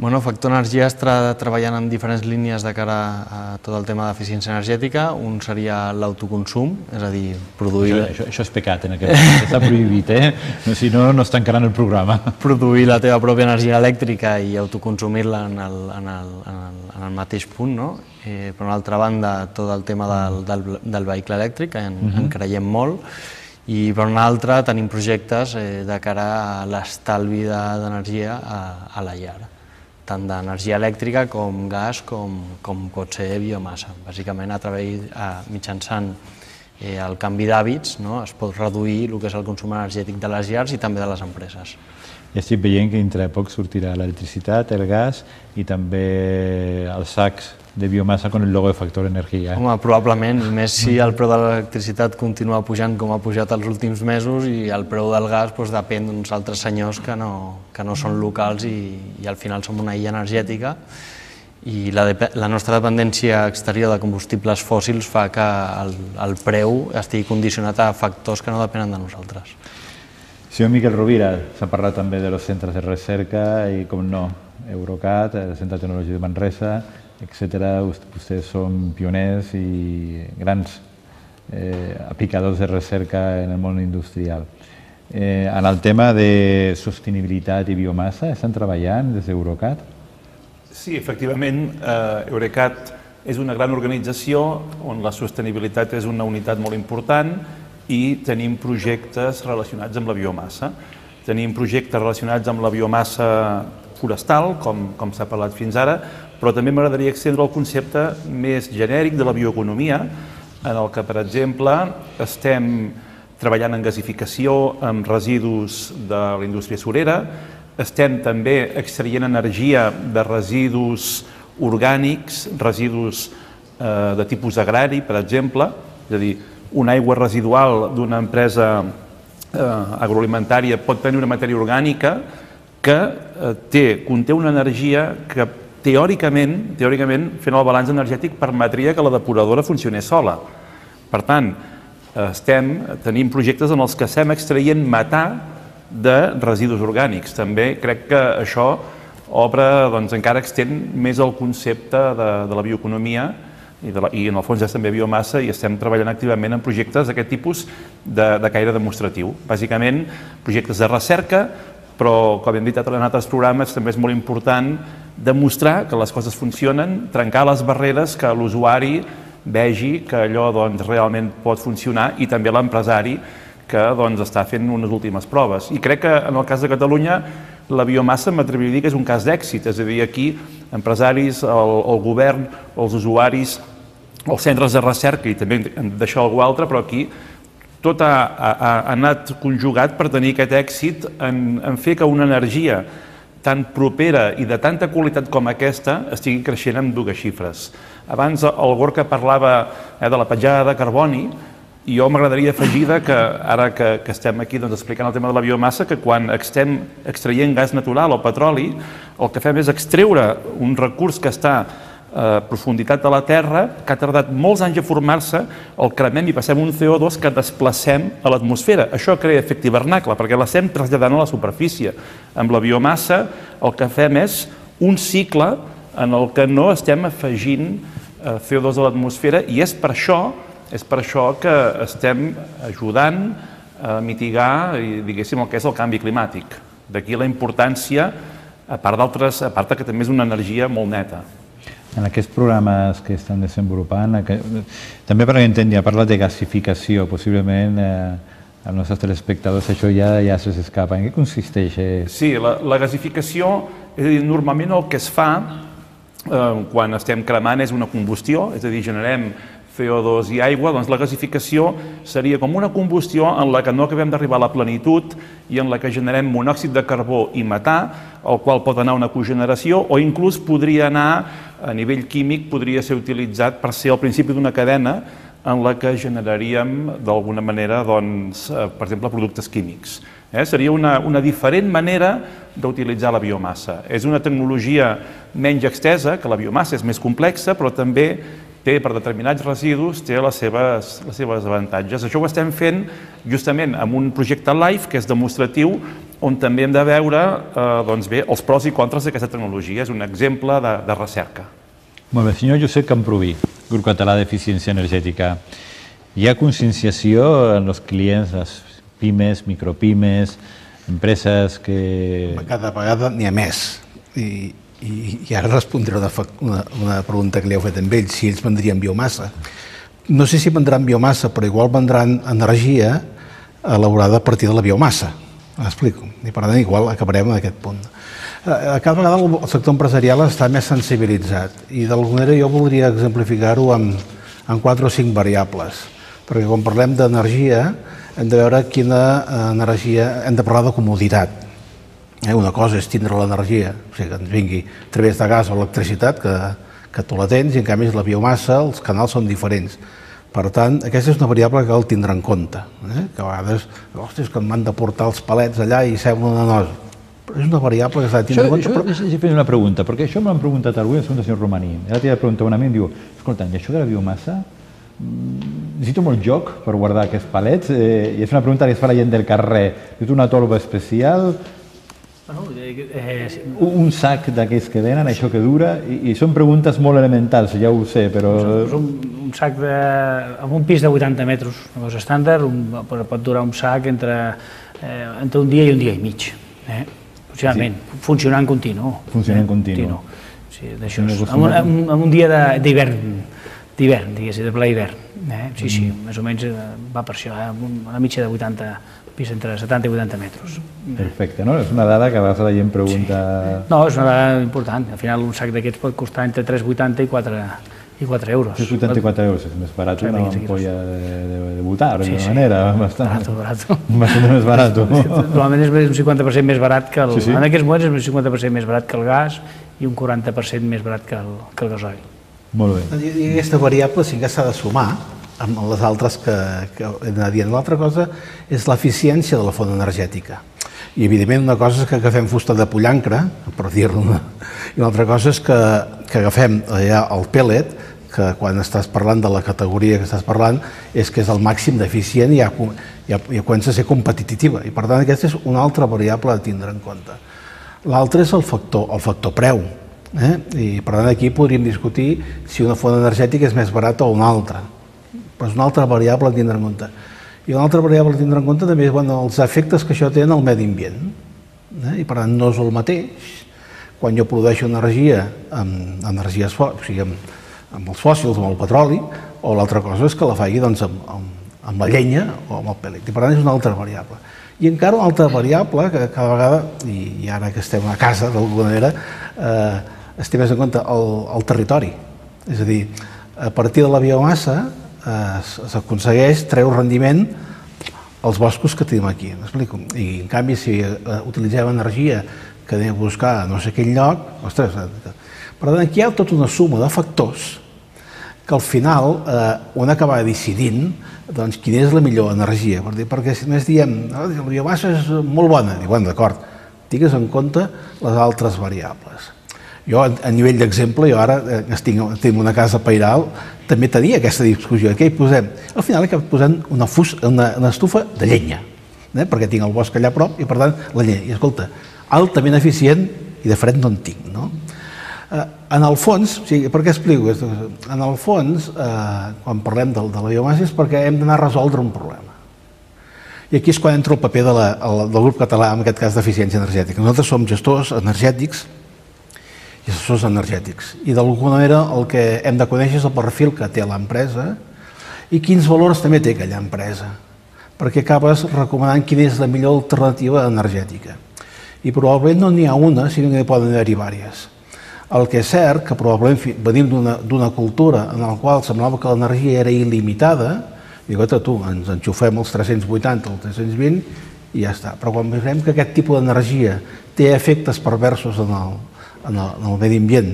Bueno, Factor Energia està treballant en diferents línies de cara a tot el tema d'eficiència energètica. Un seria l'autoconsum, és a dir, produir... Això, això, això és pecat, en aquest moment, està prohibit, eh? Si no, no es tancaran el programa. Produir la teva pròpia energia elèctrica i autoconsumir-la en, el, en, el, en, el, en el mateix punt, no? Eh, per una altra banda, tot el tema del, del, del vehicle elèctric, en, uh-huh. en creiem molt, i per una altra tenim projectes eh, de cara a l'estalvi d'energia a, a la llar, tant d'energia elèctrica com gas com, com pot ser biomassa. Bàsicament, a través, a, mitjançant eh, el canvi d'hàbits, no, es pot reduir el que és el consum energètic de les llars i també de les empreses. Ja estic veient que dintre de poc sortirà l'electricitat, el gas i també els sacs de biomassa con el logo de Factor Energia. Home, probablement, i més si el preu de l'electricitat continua pujant com ha pujat els últims mesos i el preu del gas doncs, depèn d'uns altres senyors que no, que no són locals i, i al final som una illa energètica i la, la nostra dependència exterior de combustibles fòssils fa que el, el preu estigui condicionat a factors que no depenen de nosaltres. Senyor Miquel Rovira, s'ha parlat també de los centres de recerca i, com no, Eurocat, el Centre de Tecnologia de Manresa, etcètera. Vostès són pioners i grans eh, aplicadors de recerca en el món industrial. Eh, en el tema de sostenibilitat i biomassa, estan treballant des d'Eurocat? Sí, efectivament, eh, Eurecat és una gran organització on la sostenibilitat és una unitat molt important i tenim projectes relacionats amb la biomassa. Tenim projectes relacionats amb la biomassa forestal, com, com s'ha parlat fins ara, però també m'agradaria extendre el concepte més genèric de la bioeconomia, en el que, per exemple, estem treballant en gasificació amb residus de la indústria surera, estem també extraient energia de residus orgànics, residus eh, de tipus agrari, per exemple, és a dir, una aigua residual d'una empresa eh, agroalimentària pot tenir una matèria orgànica que eh, té, conté una energia que teòricament, teòricament, fent el balanç energètic, permetria que la depuradora funcionés sola. Per tant, estem, tenim projectes en els que estem extraient metà de residus orgànics. També crec que això obre, doncs, encara extén més el concepte de, de la bioeconomia i, de la, i en el fons és també biomassa i estem treballant activament en projectes d'aquest tipus de, de caire demostratiu. Bàsicament, projectes de recerca, però, com hem dit en altres programes, també és molt important demostrar que les coses funcionen, trencar les barreres, que l'usuari vegi que allò doncs, realment pot funcionar i també l'empresari que doncs, està fent unes últimes proves. I crec que en el cas de Catalunya la biomassa m'atreviria a dir que és un cas d'èxit, és a dir, aquí empresaris, el, el govern, els usuaris, els centres de recerca i també d'això algú altre, però aquí tot ha, ha, ha anat conjugat per tenir aquest èxit en, en fer que una energia tan propera i de tanta qualitat com aquesta estigui creixent amb dues xifres. Abans el Gorka parlava eh, de la petjada de carboni i jo m'agradaria afegir que ara que, que estem aquí doncs, explicant el tema de la biomassa, que quan estem extraient gas natural o petroli, el que fem és extreure un recurs que està a profunditat de la Terra, que ha tardat molts anys a formar-se, el cremem i passem un C O dos que desplacem a l'atmosfera. Això crea efecte hivernacle, perquè l'estem traslladant a la superfície. Amb la biomassa el que fem és un cicle en el que no estem afegint C O dos a l'atmosfera i és per això, és per això que estem ajudant a mitigar, diguéssim, el que és el canvi climàtic. D'aquí la importància, a part d'altres, a part que també és una energia molt neta. En aquests programes que estan desenvolupant, també per entendre, ha parlat de gasificació, possiblement als nostres telespectadors això ja, ja se'ls escapa. En què consisteix? Sí, la, la gasificació, és a dir, normalment el que es fa eh, quan estem cremant és una combustió, és a dir, generem C O dos i aigua, doncs la gasificació seria com una combustió en la que no acabem d'arribar a la plenitud i en la que generem monòxid de carbó i metà, el qual pot anar a una cogeneració o inclús podria anar a nivell químic, podria ser utilitzat per ser el principi d'una cadena en la que generaríem d'alguna manera, doncs, per exemple, productes químics. Eh? Seria una, una diferent manera d'utilitzar la biomassa. És una tecnologia menys extesa, que la biomassa és més complexa, però també té per determinats residus, té les seves, les seves avantatges. Això ho estem fent justament amb un projecte LIFE, que és demostratiu, on també hem de veure eh, doncs bé, els pros i contres d'aquesta tecnologia. És un exemple de, de recerca. Molt bé, senyor Josep Camproví, Grup Català d'Eficiència Energètica. Hi ha conscienciació en els clients, les pimes, micropimes, empreses que... Cada vegada n'hi ha més. I, i, i ara respondré una, una, una pregunta que li heu fet amb ells, si ells vendrien biomassa. No sé si vendran biomassa, però igual vendran energia elaborada a partir de la biomassa. M'explico. I per tant, igual acabarem en aquest punt. Cada vegada el sector empresarial està més sensibilitzat i d'alguna manera jo voldria exemplificar-ho amb, amb quatre o cinc variables. Perquè quan parlem d'energia hem de veure quina energia, hem de parlar de comoditat. Una cosa és tindre l'energia, o sigui, que ens vingui a través de gas o electricitat, que, que tu la tens, i en canvi la biomassa, els canals són diferents. Per tant, aquesta és una variable que cal tindre en compte, eh? que a vegades, ostres, que m'han de portar els palets allà i sembla una nosa. Però és una variable que s'ha de tindre en compte. Això, però... Deixa fer una pregunta, perquè això m'han preguntat avui el senyor Romaní. Ara t'hi ha preguntat un amic i diu, escolta, i això de la biomassa, necessito molt joc per guardar aquests palets? Eh, I és una pregunta que es fa la gent del carrer. Necessito una torba especial, un sac d'aquells que venen, això que dura, i, i són preguntes molt elementals, ja ho sé, però... Un, un sac de... amb un pis de vuitanta metres, una cosa estàndard, un, pot durar un sac entre, eh, entre un dia i un dia i mig, eh? Funcionalment, sí. Funcionant continu. Funcionant eh? continu. continu. Sí, d'això és. En un, en, en un dia d'hivern, d'hivern, diguéssim, de ple hivern. Eh? Sí, sí, mm. més o menys va per això, eh? Una mitja de vuitanta pis entre setanta i vuitanta metres. Perfecte, no? És una dada que a vegades la gent pregunta... Sí. No, és una dada important. Al final un sac d'aquests pot costar entre tres coma vuitanta i quatre euros. tres coma vuitanta i quatre euros, és més barat una ampolla de, de, de botar, de sí, sí. manera. Bastant, barato, barato. Bastant més barat. Normalment és un cinquanta per cent més barat que el... Sí, sí. En aquests moments és un cinquanta per cent més barat que el gas i un quaranta per cent més barat que el, que el gasoil. Molt bé. I aquesta variable sí que s'ha de sumar amb les altres que, que he d'anar dient. L'altra cosa és l'eficiència de la font energètica. I, evidentment, una cosa és que agafem fusta de pollancre, per dir-ne, i l'altra cosa és que, que agafem allà el pellet, que quan estàs parlant de la categoria que estàs parlant, és que és el màxim d'eficient i ja, ja, ja comença a ser competitiva. I, per tant, aquesta és una altra variable a tindre en compte. L'altre és el factor, el factor preu. Eh? I, per tant, aquí podríem discutir si una font energètica és més barata o una altra. Però és una altra variable a tindre en compte. I una altra variable a tindre en compte també és bueno, els efectes que això té en el medi ambient. Eh? I per tant no és el mateix quan jo produeixo energia amb energies o sigui, amb, amb els fòssils, amb el petroli, o l'altra cosa és que la faci doncs, amb, amb, amb la llenya o amb el pellet. I per tant és una altra variable. I encara una altra variable que cada vegada, i, i ara que estem a casa d'alguna manera, eh, es té més en compte el, el territori. És a dir, a partir de la biomassa s'aconsegueix treure rendiment als boscos que tenim aquí, m'explico? I en canvi si utilitzem energia que anem a buscar a no sé quin lloc, ostres, per tant aquí hi ha tota una suma de factors que al final un acaba decidint doncs quina és la millor energia, perquè si només diem la biomassa és molt bona, dic, bueno, d'acord, tingues en compte les altres variables. Jo, a nivell d'exemple, jo ara tinc una casa pairal, també tenia aquesta discussió. Què hi posem? Al final he acabat posant una, fus, una, una estufa de llenya, eh? perquè tinc el bosc allà a prop i, per tant, la llenya. I, escolta, altament eficient i de fred no en tinc, no? Eh, en el fons, o sigui, per què explico aquesta cosa? En el fons, eh, quan parlem de, de la biomassa, és perquè hem d'anar a resoldre un problema. I aquí és quan entra el paper de la, el, del grup català, en aquest cas d'eficiència energètica. Nosaltres som gestors energètics i assessors energètics. I d'alguna manera el que hem de conèixer és el perfil que té l'empresa i quins valors també té aquella empresa, perquè acabes recomanant quina és la millor alternativa energètica. I probablement no n'hi ha una, sinó que n'hi poden haver-hi diverses. El que és cert que probablement venim d'una cultura en la qual semblava que l'energia era il·limitada, i dic, tu, ens enxufem els tres-cents vuitanta o els tres-cents vint i ja està. Però quan veiem que aquest tipus d'energia té efectes perversos en el en el, en el medi ambient,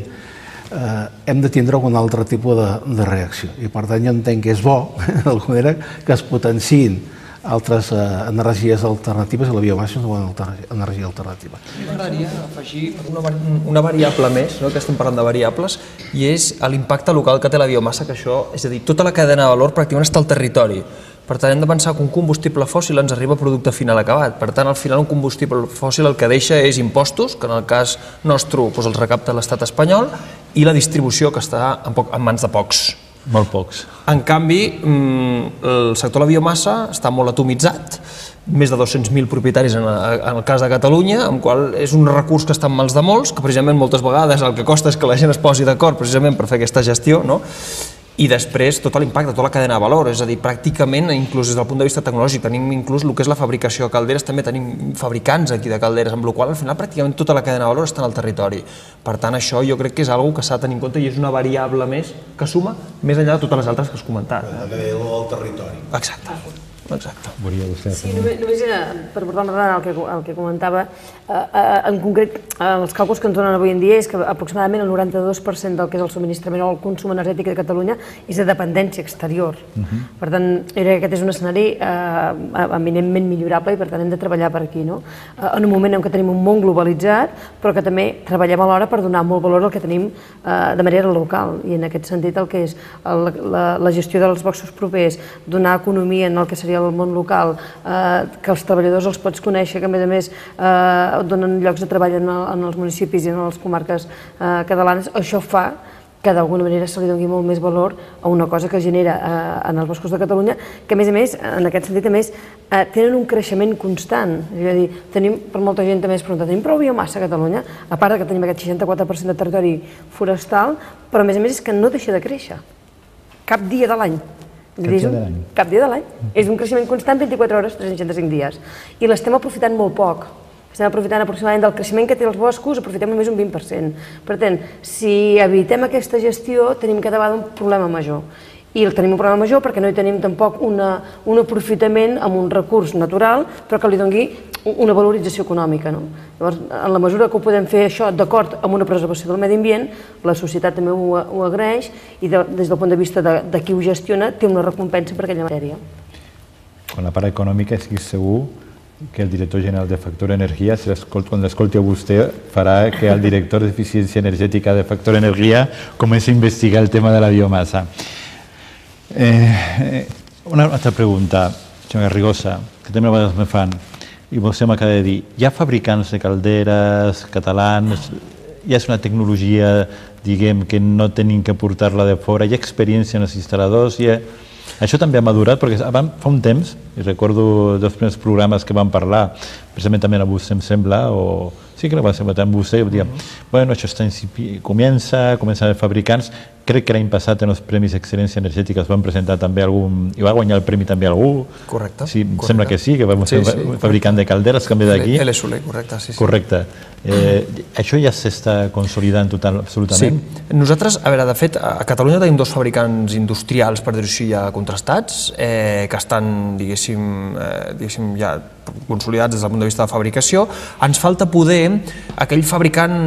eh, hem de tindre algun altre tipus de, de reacció. I per tant jo entenc que és bo, d'alguna manera, que es potenciïn altres eh, energies alternatives i la biomassa és una bona energia alternativa. M'agradaria afegir una, una variable més, no? Que estem parlant de variables, i és l'impacte local que té la biomassa, que això, és a dir, tota la cadena de valor pràcticament està al territori. Per tant, hem de pensar que un combustible fòssil ens arriba a producte final acabat. Per tant, al final, un combustible fòssil el que deixa és impostos, que en el cas nostre doncs, els recapta l'estat espanyol, i la distribució, que està en, poc, en mans de pocs. Molt pocs. En canvi, el sector de la biomassa està molt atomitzat, més de dos-cents mil propietaris en el cas de Catalunya, en qual és un recurs que està en mans de molts, que precisament moltes vegades el que costa és que la gent es posi d'acord precisament per fer aquesta gestió, no? I després tot l'impacte, tota la cadena de valor, és a dir, pràcticament, inclús des del punt de vista tecnològic, tenim inclús el que és la fabricació de calderes, també tenim fabricants aquí de calderes, amb la qual al final pràcticament tota la cadena de valor està en el territori. Per tant, això jo crec que és una cosa que s'ha de tenir en compte i és una variable més que suma més enllà de totes les altres que has comentat. El territori. Exacte. Exacte. Sí, només, només per abordar el que, el que comentava, en concret, els càlculs que ens donen avui en dia és que aproximadament el noranta-dos per cent del que és el subministrament o el consum energètic de Catalunya és de dependència exterior. Uh-huh. Per tant, aquest és un escenari eh, eminentment millorable i per tant hem de treballar per aquí, no? En un moment en què tenim un món globalitzat, però que també treballem alhora per donar molt valor al que tenim eh, de manera local, i en aquest sentit el que és el, la, la gestió dels boscos propers, donar economia en el que seria el món local, eh, que els treballadors els pots conèixer, que a més a més eh, donen llocs de treball en, el, en els municipis i en les comarques eh, catalanes, això fa que d'alguna manera se li doni molt més valor a una cosa que genera eh, en els boscos de Catalunya, que a més a més, en aquest sentit, a més, eh, tenen un creixement constant. És a dir, tenim, per molta gent també es pregunta, tenim prou biomassa a Catalunya, a part que tenim aquest seixanta-quatre per cent de territori forestal, però a més a més és que no deixa de créixer, cap dia de l'any. Cap dia de l'any. Cap dia de l'any. És un creixement constant, vint-i-quatre hores, tres cents seixanta-cinc dies. I l'estem aprofitant molt poc. Estem aprofitant aproximadament del creixement que té els boscos, aprofitem només un vint per cent. Per tant, si evitem aquesta gestió, tenim cada vegada un problema major. I el tenim un problema major perquè no hi tenim tampoc una, un aprofitament amb un recurs natural, però que li doni una valorització econòmica. No? Llavors, en la mesura que ho podem fer això d'acord amb una preservació del medi ambient, la societat també ho, ho agraeix i de, des del punt de vista de, de qui ho gestiona té una recompensa per aquella matèria. Con la part econòmica estic segur que el director general de Factor Energia, si quan l'escolti a vostè, farà que el director d'Eficiència Energètica de Factor Energia comenci a investigar el tema de la biomassa. Eh, una altra pregunta, senyor Garrigosa, que també a vegades me fan, i vostè m'acaba de dir, hi ha fabricants de calderes catalans, ja és una tecnologia, diguem, que no tenim que portar-la de fora, hi ha experiència en els instal·ladors, hi ha... Això també ha madurat, perquè fa un temps, i recordo dels primers programes que vam parlar, precisament també a vostè em sembla, o sí que va ser amb vostè, i diem, bueno, això està incipient, comença, comencen els fabricants, crec que l'any passat en els Premis d'Excel·lència Energètica es van presentar també algun, i va guanyar el premi també algú. Correcte. Sí, sembla que sí, que va ser un fabricant de calderes, també d'aquí. L S U L, correcte, sí. Correcte. Això ja s'està consolidant total, absolutament? Sí. Nosaltres, a veure, de fet, a Catalunya tenim dos fabricants industrials, per dir-ho així, ja contrastats, que estan, diguéssim, ja consolidats des del punt de vista de fabricació. Ens falta poder aquell fabricant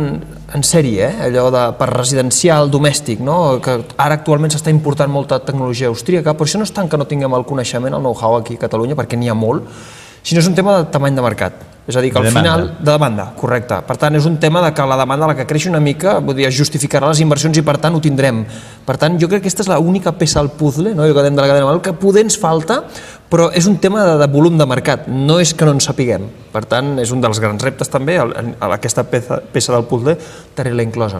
en sèrie, allò de per residencial, domèstic, que ara actualment s'està important molta tecnologia austríaca, però això no és tant que no tinguem el coneixement, el know-how aquí a Catalunya, perquè n'hi ha molt, sinó és un tema de tamany de mercat. És a dir, que al final... De demanda, correcte. Per tant, és un tema que la demanda, la que creix una mica, es justificarà les inversions i per tant ho tindrem. Per tant, jo crec que aquesta és l'única peça al puzzle, allò que dèiem de la cadena de valor, que poder ens falta, però és un tema de volum de mercat, no és que no en sapiguem. Per tant, és un dels grans reptes també, aquesta peça del puzzle, tenir-la inclosa.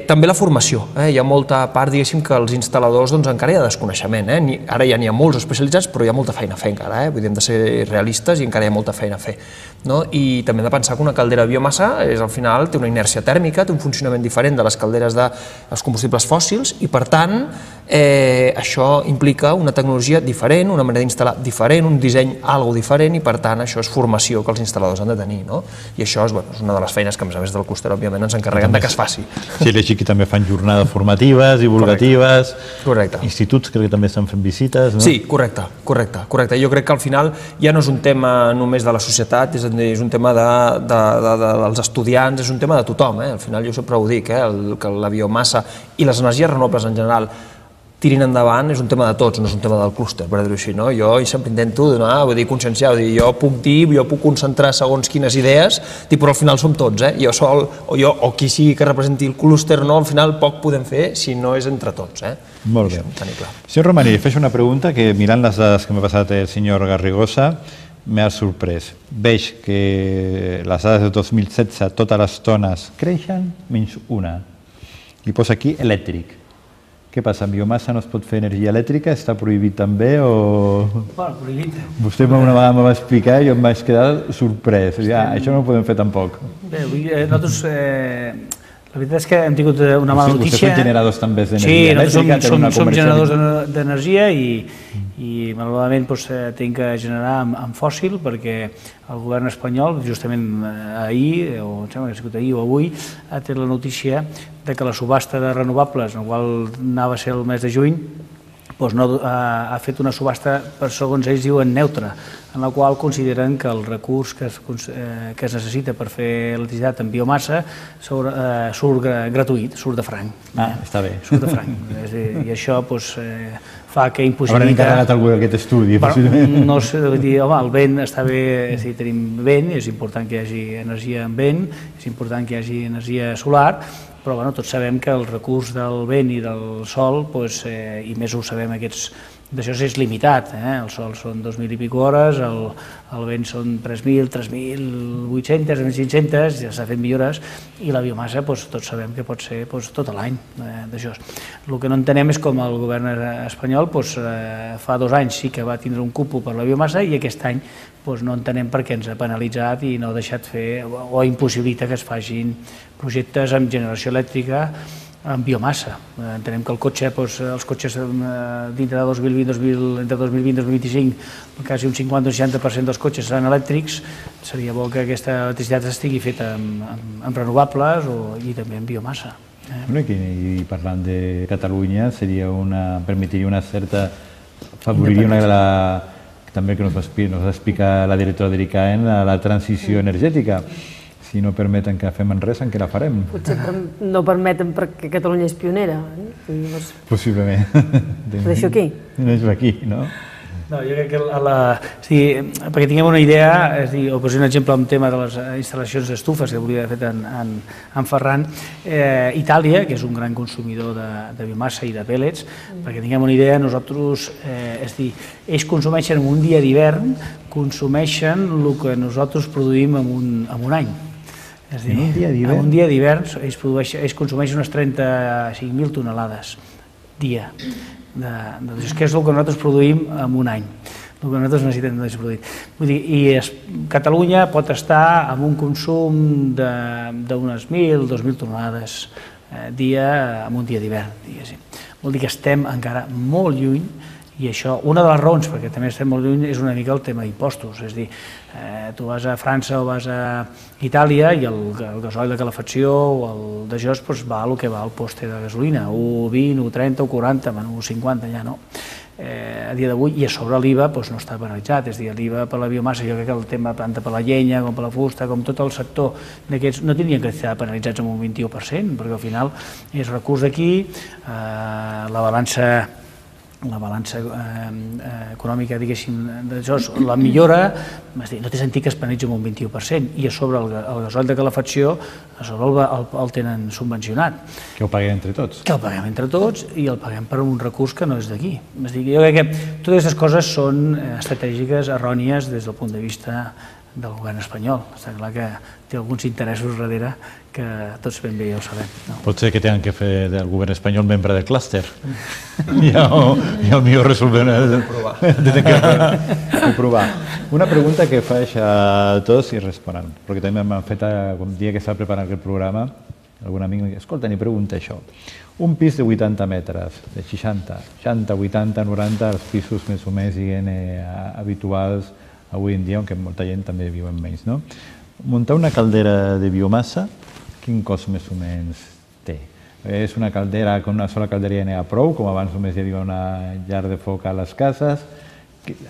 També la formació. Hi ha molta part, diguéssim, que els instal·ladors encara hi ha desconeixement. Ara ja n'hi ha molts especialitzats, però hi ha molta feina a fer encara. Vull dir, hem de ser realistes i encara hi ha molta feina a fer. I també hem de pensar que una caldera de biomassa al final té una inèrcia tèrmica, té un funcionament diferent de les calderes dels combustibles fòssils i, per tant, això implica una tecnologia diferent, una manera d'instal·lar diferent, un disseny algo diferent i, per tant, això és formació que els instal·ladors han de tenir. I això és una de les feines que, a més a més del clúster, òbviament, ens encarreguen que es faci. Sí, he llegit que també fan jornades formatives, divulgatives, instituts, crec que també estan fent visites. Sí, correcte, correcte. Jo crec que al final ja no és un tema només de la societat, és un tema dels estudiants, és un tema de tothom. Al final jo sempre ho dic, que la biomassa i les energies renovables en general tirin endavant és un tema de tots, no és un tema del clúster, per dir-ho així. Jo sempre intento conscienciar, jo puc dir, jo puc concentrar segons quines idees, però al final som tots, jo sol, o qui sigui que representi el clúster, al final poc podem fer si no és entre tots. Molt bé. Senyor Romaní, faig una pregunta que mirant les dades que m'ha passat el senyor Garrigosa m'ha sorprès. Veig que les dades de dos mil setze totes les tones creixen menys una. I posa aquí elèctric. Què passa, amb biomassa no es pot fer energia elèctrica? Està prohibit també o...? Bueno, prohibit. Vostè una vegada me va explicar i jo em vaig quedar sorprès. Això no ho podem fer tampoc. Bé, nosaltres... La veritat és que hem tingut una mala notícia. Vostès són generadors també d'energia elèctrica? Sí, nosaltres som generadors d'energia i malauradament hem de generar amb fòssil perquè el govern espanyol, justament ahir, o em sembla que ha sigut ahir o avui, ha tret la notícia que la subhasta de renovables, la qual anava a ser el mes de juny, ha fet una subhasta, per segons ells diuen, neutra, en la qual consideren que el recurs que es necessita per fer electricitat en biomassa surt gratuït, surt de franc. Ah, està bé. Surt de franc. I això fa que impossibilita... Hauran encarregat algú d'aquest estudi, possiblement. No sé, dir, home, el vent està bé, és a dir, tenim vent, és important que hi hagi energia en vent, és important que hi hagi energia solar, però bueno, tots sabem que el recurs del vent i del sol, i més ho sabem aquests, d'això és limitat, el sol són dos mil i pico hores, el vent són tres mil, tres mil vuit-centes, tres mil cinc-centes, ja s'ha fet millores, i la biomassa tots sabem que pot ser tot l'any d'això. El que no entenem és com el govern espanyol fa dos anys sí que va tindre un cupo per la biomassa i aquest any no entenem per què ens ha penalitzat i no ha deixat fer o impossibilita que es facin projectes amb generació elèctrica en biomassa. Entenem que el cotxe, els cotxes dintre de dos mil vint, entre dos mil vint i dos mil vint-i-cinc, quasi un cinquanta o seixanta per cent dels cotxes seran elèctrics, seria bo que aquesta electricitat estigui feta amb renovables i també en biomassa. I parlant de Catalunya, permetria una certa, afavoriria una de la... també que nos va explicar la directora de l'I C A E N, la transició energètica. Si no permeten que fem en res, en què la farem? Potser no permeten perquè Catalunya és pionera. Possiblement. Ho deixo aquí? Ho deixo aquí, no? No, jo crec que, perquè tinguem una idea, és dir, o poser un exemple amb el tema de les instal·lacions d'estufes que volia haver fet en Ferran, Itàlia, que és un gran consumidor de biomassa i de pèl·lets, perquè tinguem una idea, nosaltres, és dir, ells consumeixen en un dia d'hivern, consumeixen el que nosaltres produïm en un any. És a dir, en un dia d'hivern ells consumeixen unes trenta-cinc mil tonelades dia. És que és el que nosaltres produïm en un any, el que nosaltres necessitem produir. I Catalunya pot estar amb un consum d'unes mil, dues mil tonelades dia en un dia d'hivern, diguéssim. Vol dir que estem encara molt lluny i això, una de les raons perquè també estem molt lluny és una mica el tema d'impostos, és a dir, tu vas a França o vas a Itàlia i el gasoil de calefacció o el d'això va el que va al poste de gasolina, u vint, u trenta, u quaranta, u cinquanta ja no. A dia d'avui, i a sobre l'I V A no està penalitzat, és a dir, l'I V A per la biomassa, jo crec que el tema tant per la llenya com per la fusta, com tot el sector d'aquests, no tindrien que estar penalitzats amb un vint-i-u per cent, perquè al final és recurs d'aquí, la balança la balança econòmica, diguéssim, la millora, no té sentit que es penalitzi amb un vint-i-u per cent, i a sobre el gasoil de calefacció, a sobre el tenen subvencionat. Que ho paguem entre tots. Que el paguem entre tots i el paguem per un recurs que no és d'aquí. Jo crec que totes aquestes coses són estratègiques errònies des del punt de vista del govern espanyol. Està clar que té alguns interessos darrere que tots ben bé ja ho sabem. Pot ser que tinguin que fer del govern espanyol membre del clúster. Ja potser resolvem... Tenen que provar. Una pregunta que faig a tots i responen, perquè també m'han fet, el dia que estava preparant aquest programa, algun amic em diu, escolta, ni pregunta això. Un pis de vuitanta metres, de seixanta, seixanta, vuitanta, noranta, els pisos més o més habituals avui en dia, on molta gent també viu en menys, no? Muntar una caldera de biomassa, quin cost més o menys té? És una caldera, con una sola caldera ja n'hi ha prou, com abans només hi havia una llar de foc a les cases.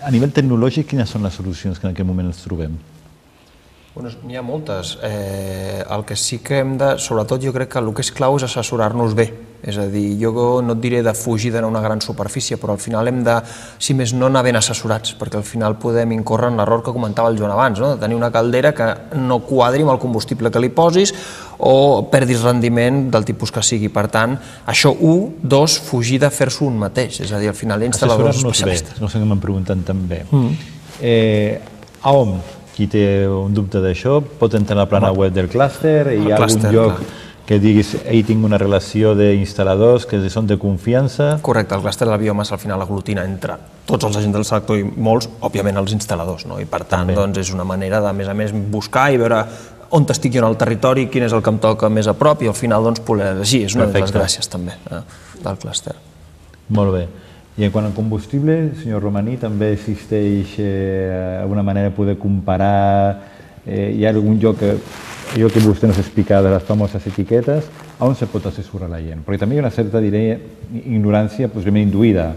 A nivell tecnològic, quines són les solucions que en aquest moment ens trobem? N'hi ha moltes. El que sí que hem de, sobretot jo crec que el que és clau és assessorar-nos bé. És a dir, jo no et diré de fugir d'anar a una gran superfície, però al final hem de, si més no, anar ben assessorats, perquè al final podem incórrer en l'error que comentava el Joan abans, de tenir una caldera que no quadri amb el combustible que li posis o perdis rendiment del tipus que sigui. Per tant, això, un, dos, fugir de fer-s'ho un mateix, és a dir, al final hi ha instal·ladors especialistes. No sé què m'han preguntat també. A O M, qui té un dubte d'això, pot entrar a la plana web del clúster, hi ha algun lloc que diguis, ell tinc una relació d'instal·ladors que són de confiança. Correcte, el clúster de la biomassa al final aglutina entre tots els agents del sector i molts, òbviament, els instal·ladors, i per tant és una manera de, a més a més, buscar i veure on estic jo en el territori, quin és el que em toca més a prop i al final poder elegir. És una de les gràcies també del clúster. Molt bé. I en quant al combustible, senyor Romaní, també existeix alguna manera de poder comparar? Hi ha algun lloc que allò que vostè ens explica de les famoses etiquetes, on se pot assessorar la gent? Perquè també hi ha una certa, diré, ignorància possiblement induïda.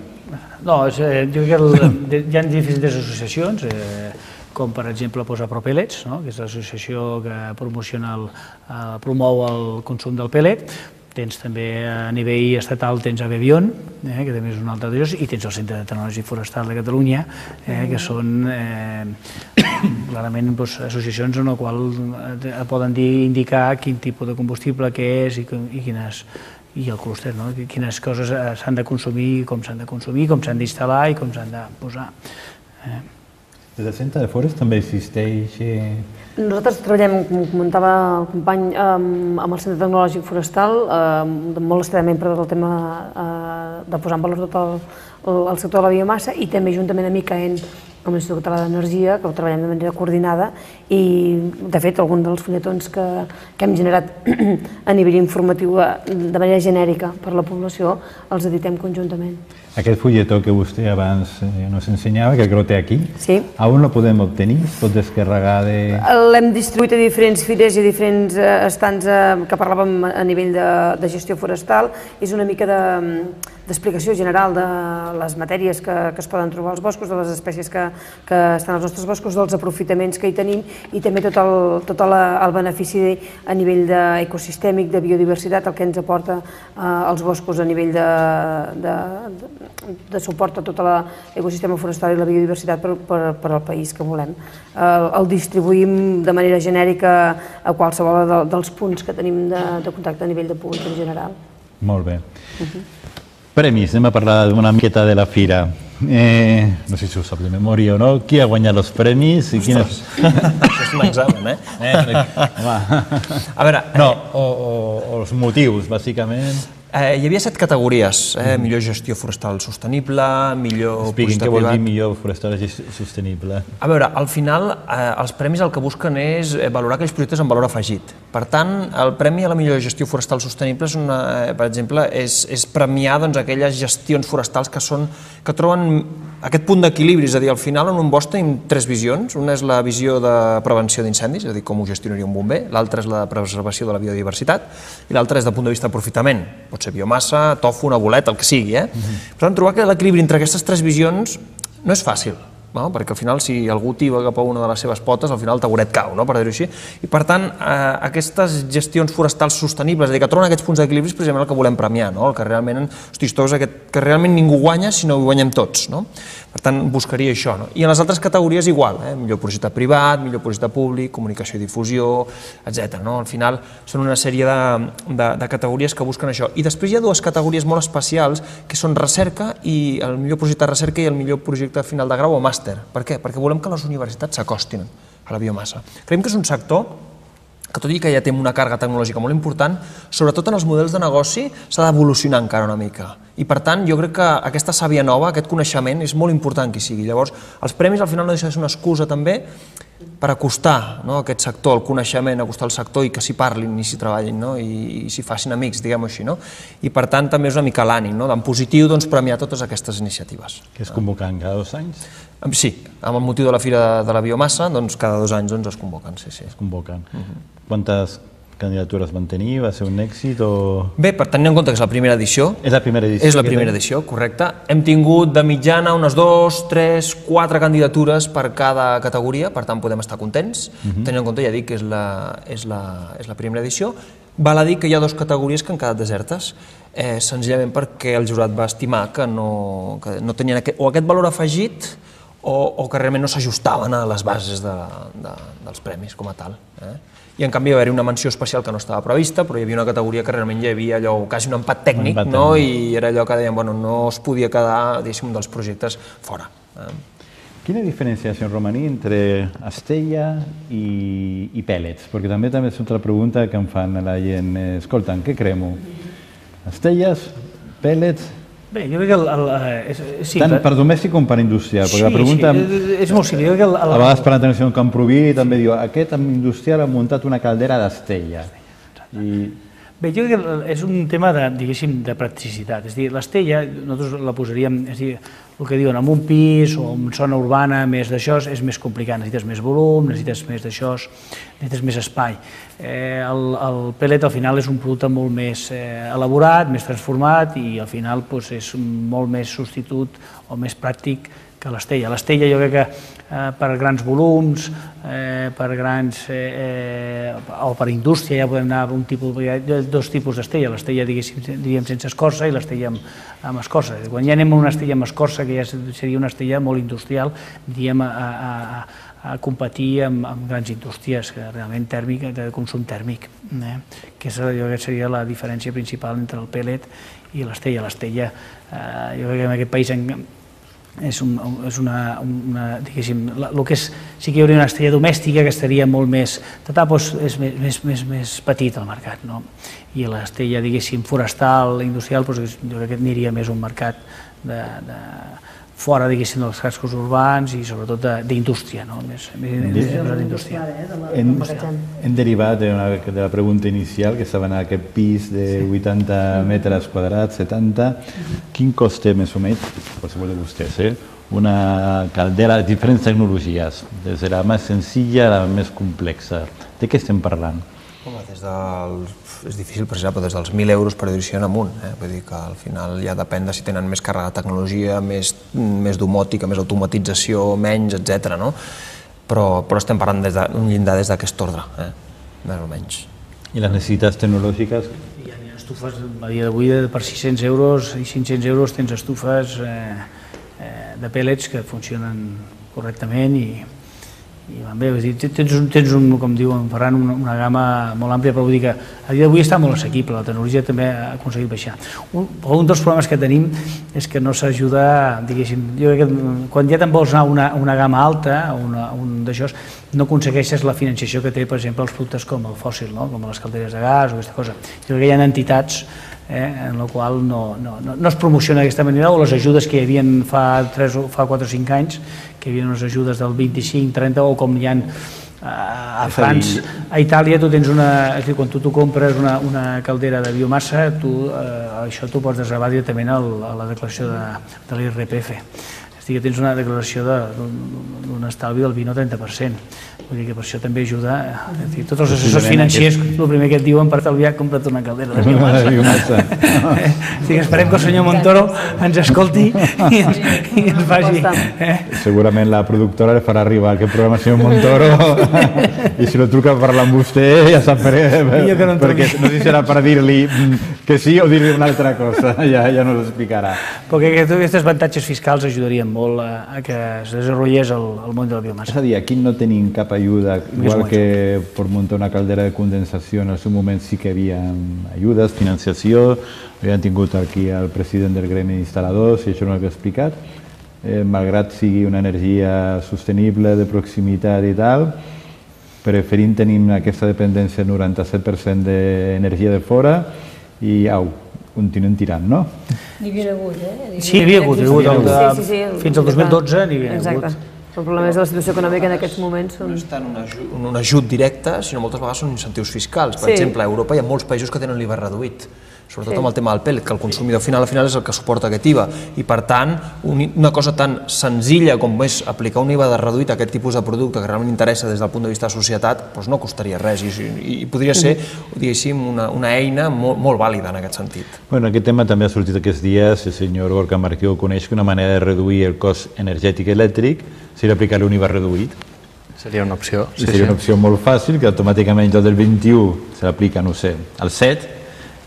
No, jo crec que hi ha diferents associacions, com per exemple Propellets, que és l'associació que promociona, promou el consum del pèl·let. Tens també a nivell estatal, tens Abebion, que també és un altre d'ells, i tens el Centre de Tecnologia Forestal de Catalunya, que són clarament associacions en les quals poden indicar quin tipus de combustible que és i quines i el clúster, quines coses s'han de consumir, com s'han de consumir, com s'han d'instal·lar i com s'han de posar. Des del Centre de Forest també existeix... Nosaltres treballem, com comentava el company, amb el Centre Tecnològic Forestal, molt estretament per el tema de posar en valor tot el sector de la biomassa i també juntament amb I C A E N, com l'Institut Català d'Energia, que ho treballem de manera coordinada i, de fet, alguns dels fulletons que hem generat a nivell informatiu de manera genèrica per a la població els editem conjuntament. Aquest fulletó que vostè abans ens ensenyava, que el té aquí, on el podem obtenir? Es pot descarregar de... L'hem distribuït a diferents fires i a diferents estants que parlàvem a nivell de gestió forestal. És una mica d'explicació general de les matèries que es poden trobar als boscos, de les espècies que estan als nostres boscos, dels aprofitaments que hi tenim i també tot el benefici a nivell ecosistèmic, de biodiversitat, el que ens aporta als boscos a nivell de de suport a tot l'ecosistema forestal i la biodiversitat per al país que volem. El distribuïm de manera genèrica a qualsevol dels punts que tenim de contacte a nivell de públic en general. Molt bé. Premis, anem a parlar una miqueta de la fira. No sé si ho sap de memòria o no. Qui ha guanyat els premis? Ostres, això és un examen, eh? A veure... No, o els motius, bàsicament... Hi havia set categories, millor gestió forestal sostenible, millor... Expliquin què vol dir millor forestal sostenible. A veure, al final els premis el que busquen és valorar aquells projectes amb valor afegit. Per tant, el premi a la millor gestió forestal sostenible, per exemple, és premiar aquelles gestions forestals que troben aquest punt d'equilibri, és a dir, al final en un bosc tenim tres visions. Una és la visió de prevenció d'incendis, és a dir, com ho gestionaria un bomber, l'altra és la preservació de la biodiversitat i l'altra és del punt de vista d'aprofitament. Pot ser biomassa, tofu, una boleta, el que sigui. Per tant, trobar que l'equilibri entre aquestes tres visions no és fàcil, perquè al final si algú tiba cap a una de les seves potes, al final el taburet cau, per dir-ho així. I per tant, aquestes gestions forestals sostenibles, és a dir, que troben aquests punts d'equilibri és precisament el que volem premiar, el que realment, hosti, que realment ningú guanya si no ho guanyem tots. Per tant, buscaria això. I en les altres categories igual, millor projecte privat, millor projecte públic, comunicació i difusió, etcètera. Al final són una sèrie de categories que busquen això. I després hi ha dues categories molt especials que són recerca i el millor projecte de recerca i el millor projecte final de grau o màster. Per què? Perquè volem que les universitats s'acostin a la biomassa. Creiem que és un sector que tot i que ja té una càrrega tecnològica molt important, sobretot en els models de negoci s'ha d'evolucionar encara una mica. I per tant, jo crec que aquesta sàvia nova, aquest coneixement, és molt important que hi sigui. Llavors, els premis al final no deixen de ser una excusa també per acostar aquest sector, el coneixement, acostar el sector i que s'hi parlin i s'hi treballin i s'hi facin amics, diguem-ho així. I per tant, també és una mica l'ànim, en positiu, premiar totes aquestes iniciatives. Que es convoquen cada dos anys? Sí, amb el motiu de la Fira de la Biomassa, cada dos anys es convoquen. Es convoquen. Quantes candidatures van tenir? Va ser un èxit o...? Bé, per tenir en compte que és la primera edició... És la primera edició? És la primera edició, correcte. Hem tingut de mitjana unes dos, tres, quatre candidatures per cada categoria, per tant podem estar contents. Tenint en compte, ja dic, que és la primera edició. Val a dir que hi ha dues categories que han quedat desertes, senzillament perquè el jurat va estimar que no tenien o aquest valor afegit o que realment no s'ajustaven a les bases dels premis com a tal. I en canvi va haver-hi una menció especial que no estava prevista, però hi havia una categoria que realment hi havia allò, quasi un empat tècnic, i era allò que dèiem, bueno, no es podia quedar, diguéssim, un dels projectes fora. Quina diferència, senyor Romaní, entre estella i pèl·lets? Perquè també és una altra pregunta que em fan a la gent. Escolta'm, què cremo? Estelles, pèl·lets... Bé, jo crec que... Tant per domèstic com per industrial, perquè la pregunta... És molt simple. A vegades per l'atenció en Camproví també diu aquest industrial ha muntat una caldera d'estella. Bé, jo crec que és un tema de, diguéssim, de practicitat. És a dir, l'estella, nosaltres la posaríem, és a dir, el que diuen, en un pis o en zona urbana, més d'això, és més complicat. Necessites més volum, necessites més d'això, necessites més espai. Eh, el, el pellet, al final, és un producte molt més eh, elaborat, més transformat i, al final, doncs, és molt més substitut o més pràctic que l'estella. L'estella jo crec que eh, per grans volums, eh, per grans, eh, o per indústria, ja podem anar a un tipus, hi ha dos tipus d'estella, l'estella, diguéssim, diríem sense escorça i l'estella amb, amb escorça. Quan ja anem a una estella amb escorça, que ja seria una estella molt industrial, diríem, a, a, a, a competir amb, amb grans indústries, que realment tèrmic, de consum tèrmic, eh? que és, jo crec que seria la diferència principal entre el pellet i l'estella. L'estella, eh, jo crec que en aquest país en, és, un, és una, una, diguéssim, el que és, sí que hi hauria una estella domèstica que estaria molt més, tota, doncs, és més, més, més petit al mercat, no? I l'estella, diguéssim, forestal, industrial, doncs, jo crec que aniria més a un mercat de, de fora, diguéssim, dels cascos urbans i sobretot d'indústria, no? Més, més, més d'indústria. Hem, hem derivat de, una, de la pregunta inicial, que estava en aquest pis de vuitanta metres quadrats, setanta. Quin cost té més o menys, qualsevol de vostès, eh? Una caldera de diferents tecnologies, des de la més senzilla a la més complexa. De què estem parlant? Home, des del... és difícil precisar, però des dels mil euros per edició en amunt. Eh? Vull dir que al final ja depèn de si tenen més càrrega de tecnologia, més, més domòtica, més automatització, menys, etcètera. No? Però, però estem parlant d'un llindar des d'aquest ordre, eh? Més o menys. I les necessitats tecnològiques? Hi ha estufes, a dia d'avui, per sis-cents euros i cinc-cents euros tens estufes eh, eh, de pèl·lets que funcionen correctament i i van bé, tens, un, tens un, com diuen Ferran, una, una gamma molt àmplia, però vull dir que a dia d'avui està molt assequible, la tecnologia també ha aconseguit baixar. Un, un dels problemes que tenim és que no s'ajuda, diguéssim, jo crec que quan ja te'n vols anar a una, una gamma alta, una, un d'això, no aconsegueixes la financiació que té, per exemple, els productes com el fòssil, no? Com les calderes de gas o aquesta cosa. Jo crec que hi ha entitats Eh, en la qual no, no, no, no es promociona d'aquesta manera, o les ajudes que hi havia fa, fa quatre o cinc anys, que hi havia unes ajudes del vint-i-cinc trenta, o com hi ha a, a França, a Itàlia, tu tens una, és a dir, quan tu, tu compres una, una caldera de biomassa, tu, eh, això tu pots desgravar directament al, a la declaració de, de l'I R P F. És a dir, que tens una declaració d'un estalvi del vint o trenta per cent. Vull dir que per això també ajuda, és a dir, tots els assessors financiers, el primer que et diuen per estalviar, compra't una caldera de biomassa. Esperem que el senyor Montoro ens escolti i ens, i ens faci. Eh? Segurament la productora li farà arribar aquest programa al senyor Montoro i si no truca a parlar amb vostè ja sap per què, perquè no sé si serà per dir-li que sí o dir-li una altra cosa, ja, ja no l'explicarà. Perquè aquests avantatges fiscals ajudarien molt a, a que es desenvolupés el, el món de la biomassa. És a dir, aquí no tenim cap ayuda, igual que per muntar una caldera de condensació en el seu moment sí que hi havia ajudes, financiació, havien tingut aquí el president del gremi d'instal·ladors i això no l'havia explicat, eh, malgrat sigui una energia sostenible, de proximitat i tal, preferim tenir aquesta dependència del noranta-set per cent d'energia de fora i au, continuem tirant, no? N'hi havia hagut, eh? Sí, n'hi havia hagut, fins al dos mil dotze n'hi havia hagut. Exacte. El problema és la situació econòmica en aquests moments. No és tant un ajut, un ajut directe, sinó moltes vegades són incentius fiscals. Per exemple, a Europa hi ha molts països que tenen l'I V A reduït, sobretot amb el tema del pèl·let, que el consumidor final al final és el que suporta aquest I V A. I per tant, una cosa tan senzilla com és aplicar un I V A reduït a aquest tipus de producte que realment interessa des del punt de vista de societat, doncs no costaria res i podria ser, diguéssim, una eina molt vàlida en aquest sentit. Bueno, aquest tema també ha sortit aquests dies, el senyor Gorka Marquió coneix que una manera de reduir el cost energètic elèctric seria aplicar un I V A reduït. Seria una opció. Seria una opció molt fàcil, que automàticament el del vint-i-u se l'aplica, no sé, al set,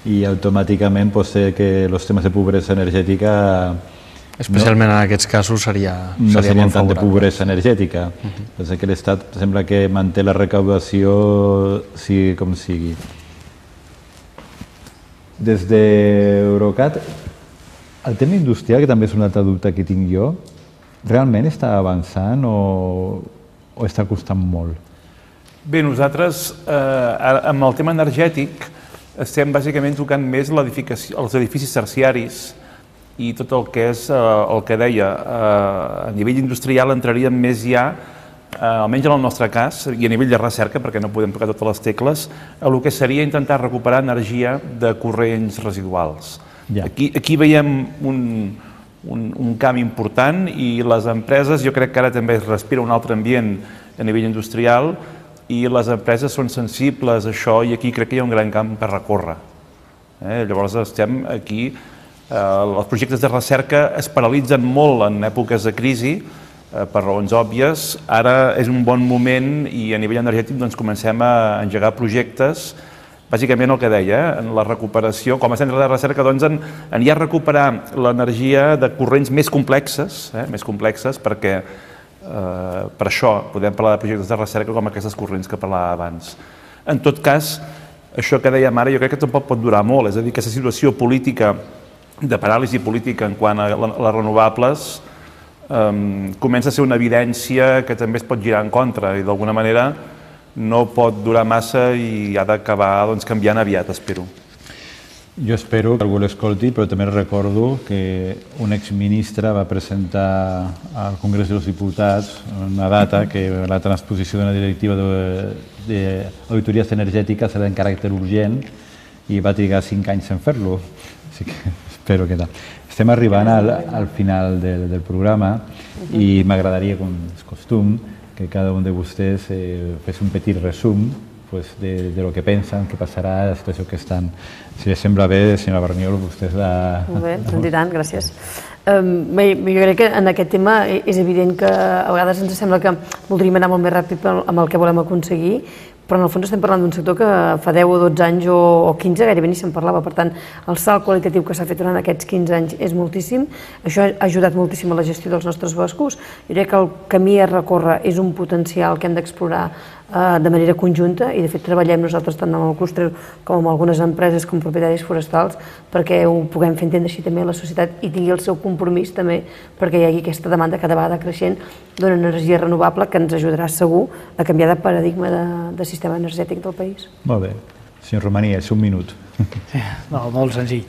i automàticament pot ser que els temes de pobresa energètica... Especialment en aquests casos seria molt favorable. No serien tant de pobresa energètica. Pensa que l'Estat sembla que manté la recaudació sigui com sigui. Des d'Eurocat, el tema industrial, que també és un altre dubte que tinc jo, realment està avançant o, o està costant molt? Bé, nosaltres, eh, amb el tema energètic, estem bàsicament tocant més els edificis terciaris i tot el que és eh, el que deia. Eh, a nivell industrial entraríem més ja almenys en el nostre cas, i a nivell de recerca, perquè no podem tocar totes les tecles, el que seria intentar recuperar energia de corrents residuals. Aquí, aquí veiem un, un, un camp important i les empreses, jo crec que ara també es respira un altre ambient a nivell industrial i les empreses són sensibles a això i aquí crec que hi ha un gran camp per recórrer. Eh? Llavors estem aquí, eh, els projectes de recerca es paralitzen molt en èpoques de crisi, per raons òbvies. Ara és un bon moment i a nivell energètic doncs, comencem a engegar projectes, bàsicament el que deia, en la recuperació, com a centre de recerca, doncs, en, en ja recuperar l'energia de corrents més complexes, eh, més complexes perquè eh, per això podem parlar de projectes de recerca com aquestes corrents que parlava abans. En tot cas, això que dèiem ara jo crec que tampoc pot durar molt, és a dir, aquesta situació política, de paràlisi política en quant a les renovables, Um, comença a ser una evidència que també es pot girar en contra i d'alguna manera no pot durar massa i ha d'acabar doncs, canviant aviat, espero. Jo espero que algú l'escolti, però també recordo que un exministre va presentar al Congrés dels Diputats una data que la transposició d'una directiva d'auditories energètiques era en caràcter urgent i va trigar cinc anys en fer-lo. Així que espero que tal. Estem arribant al, al final del, del programa i m'agradaria, com és costum, que cada un de vostès eh, fes un petit resum pues, de, de lo que pensen, què passarà, la situació que estan. Si les sembla bé, senyora Barniol, vostès la... Molt bé, doncs i tant, gràcies. Um, bé, jo crec que en aquest tema és evident que a vegades ens sembla que voldríem anar molt més ràpid amb el que volem aconseguir, però en el fons estem parlant d'un sector que fa deu o dotze anys o quinze gairebé ni se'n parlava. Per tant, el salt qualitatiu que s'ha fet durant aquests quinze anys és moltíssim. Això ha ajudat moltíssim a la gestió dels nostres boscos. Jo crec que el camí a recórrer és un potencial que hem d'explorar de manera conjunta i de fet treballem nosaltres tant amb el clúster com amb algunes empreses com propietaris forestals perquè ho puguem fer entendre així també a la societat i tingui el seu compromís també perquè hi hagi aquesta demanda cada vegada creixent d'una energia renovable que ens ajudarà segur a canviar de paradigma de, de sistema energètic del país. Molt bé. Senyor Romaní, és un minut. Sí, no, molt senzill.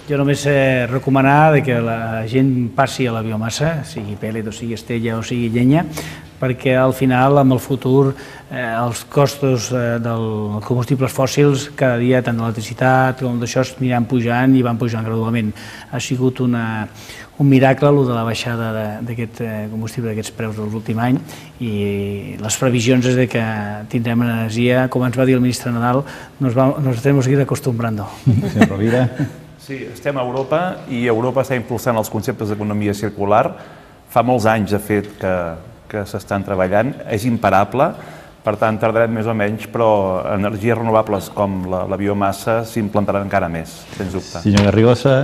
Jo només eh, recomanar que la gent passi a la biomassa, sigui pèl·let o sigui estella o sigui llenya, perquè al final, amb el futur, eh, els costos eh, dels combustibles fòssils cada dia, tant d'electricitat com d'això, aniran pujant i van pujant gradualment. Ha sigut una, un miracle el de la baixada d'aquest combustible, d'aquests preus de l'últim any, i les previsions és que tindrem energia, com ens va dir el ministre Nadal, nos, va, nos tenemos que ir acostumbrando. Senyor Rovira. Sí, estem a Europa i Europa està impulsant els conceptes d'economia circular. Fa molts anys, de fet, que, que s'estan treballant. És imparable, per tant, tardarem més o menys, però energies renovables com la, la biomassa s'implantaran encara més, sens dubte. Senyor Garrigosa.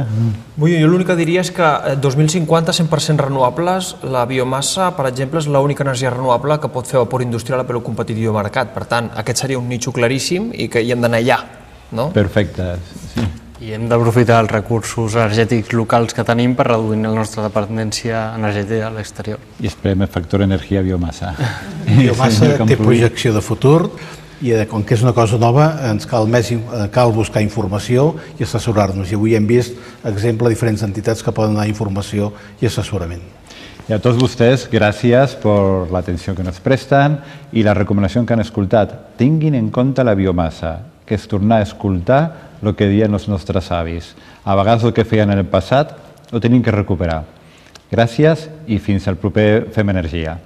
Bueno, jo l'únic que diria és que dos mil cinquanta cent per cent renovables, la biomassa, per exemple, és l'única energia renovable que pot fer vapor industrial a preu competitiu de mercat. Per tant, aquest seria un nitxo claríssim i que hi hem d'anar allà, no? Perfecte, sí. I hem d'aprofitar els recursos energètics locals que tenim per reduir la nostra dependència energètica a l'exterior. I esperem el factor energia biomassa. Biomassa té projecció de futur i com que és una cosa nova ens cal, més, cal buscar informació i assessorar-nos. I avui hem vist exemple de diferents entitats que poden donar informació i assessorament. I a tots vostès, gràcies per l'atenció que ens presten i la recomanació que han escoltat. Tinguin en compte la biomassa, que és tornar a escoltar el que deien els nostres avis. A vegades el que feien en el passat ho tenim que recuperar. Gràcies i fins al proper Fem Energia.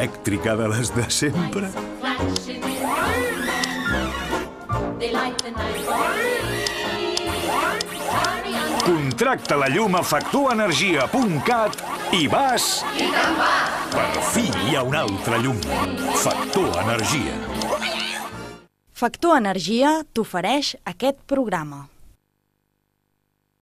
Elèctrica de les de sempre? Contracta la llum a factor energia punt cat i vas... Per fi hi ha una altra llum. Factor Energia. Factor Energia t'ofereix aquest programa.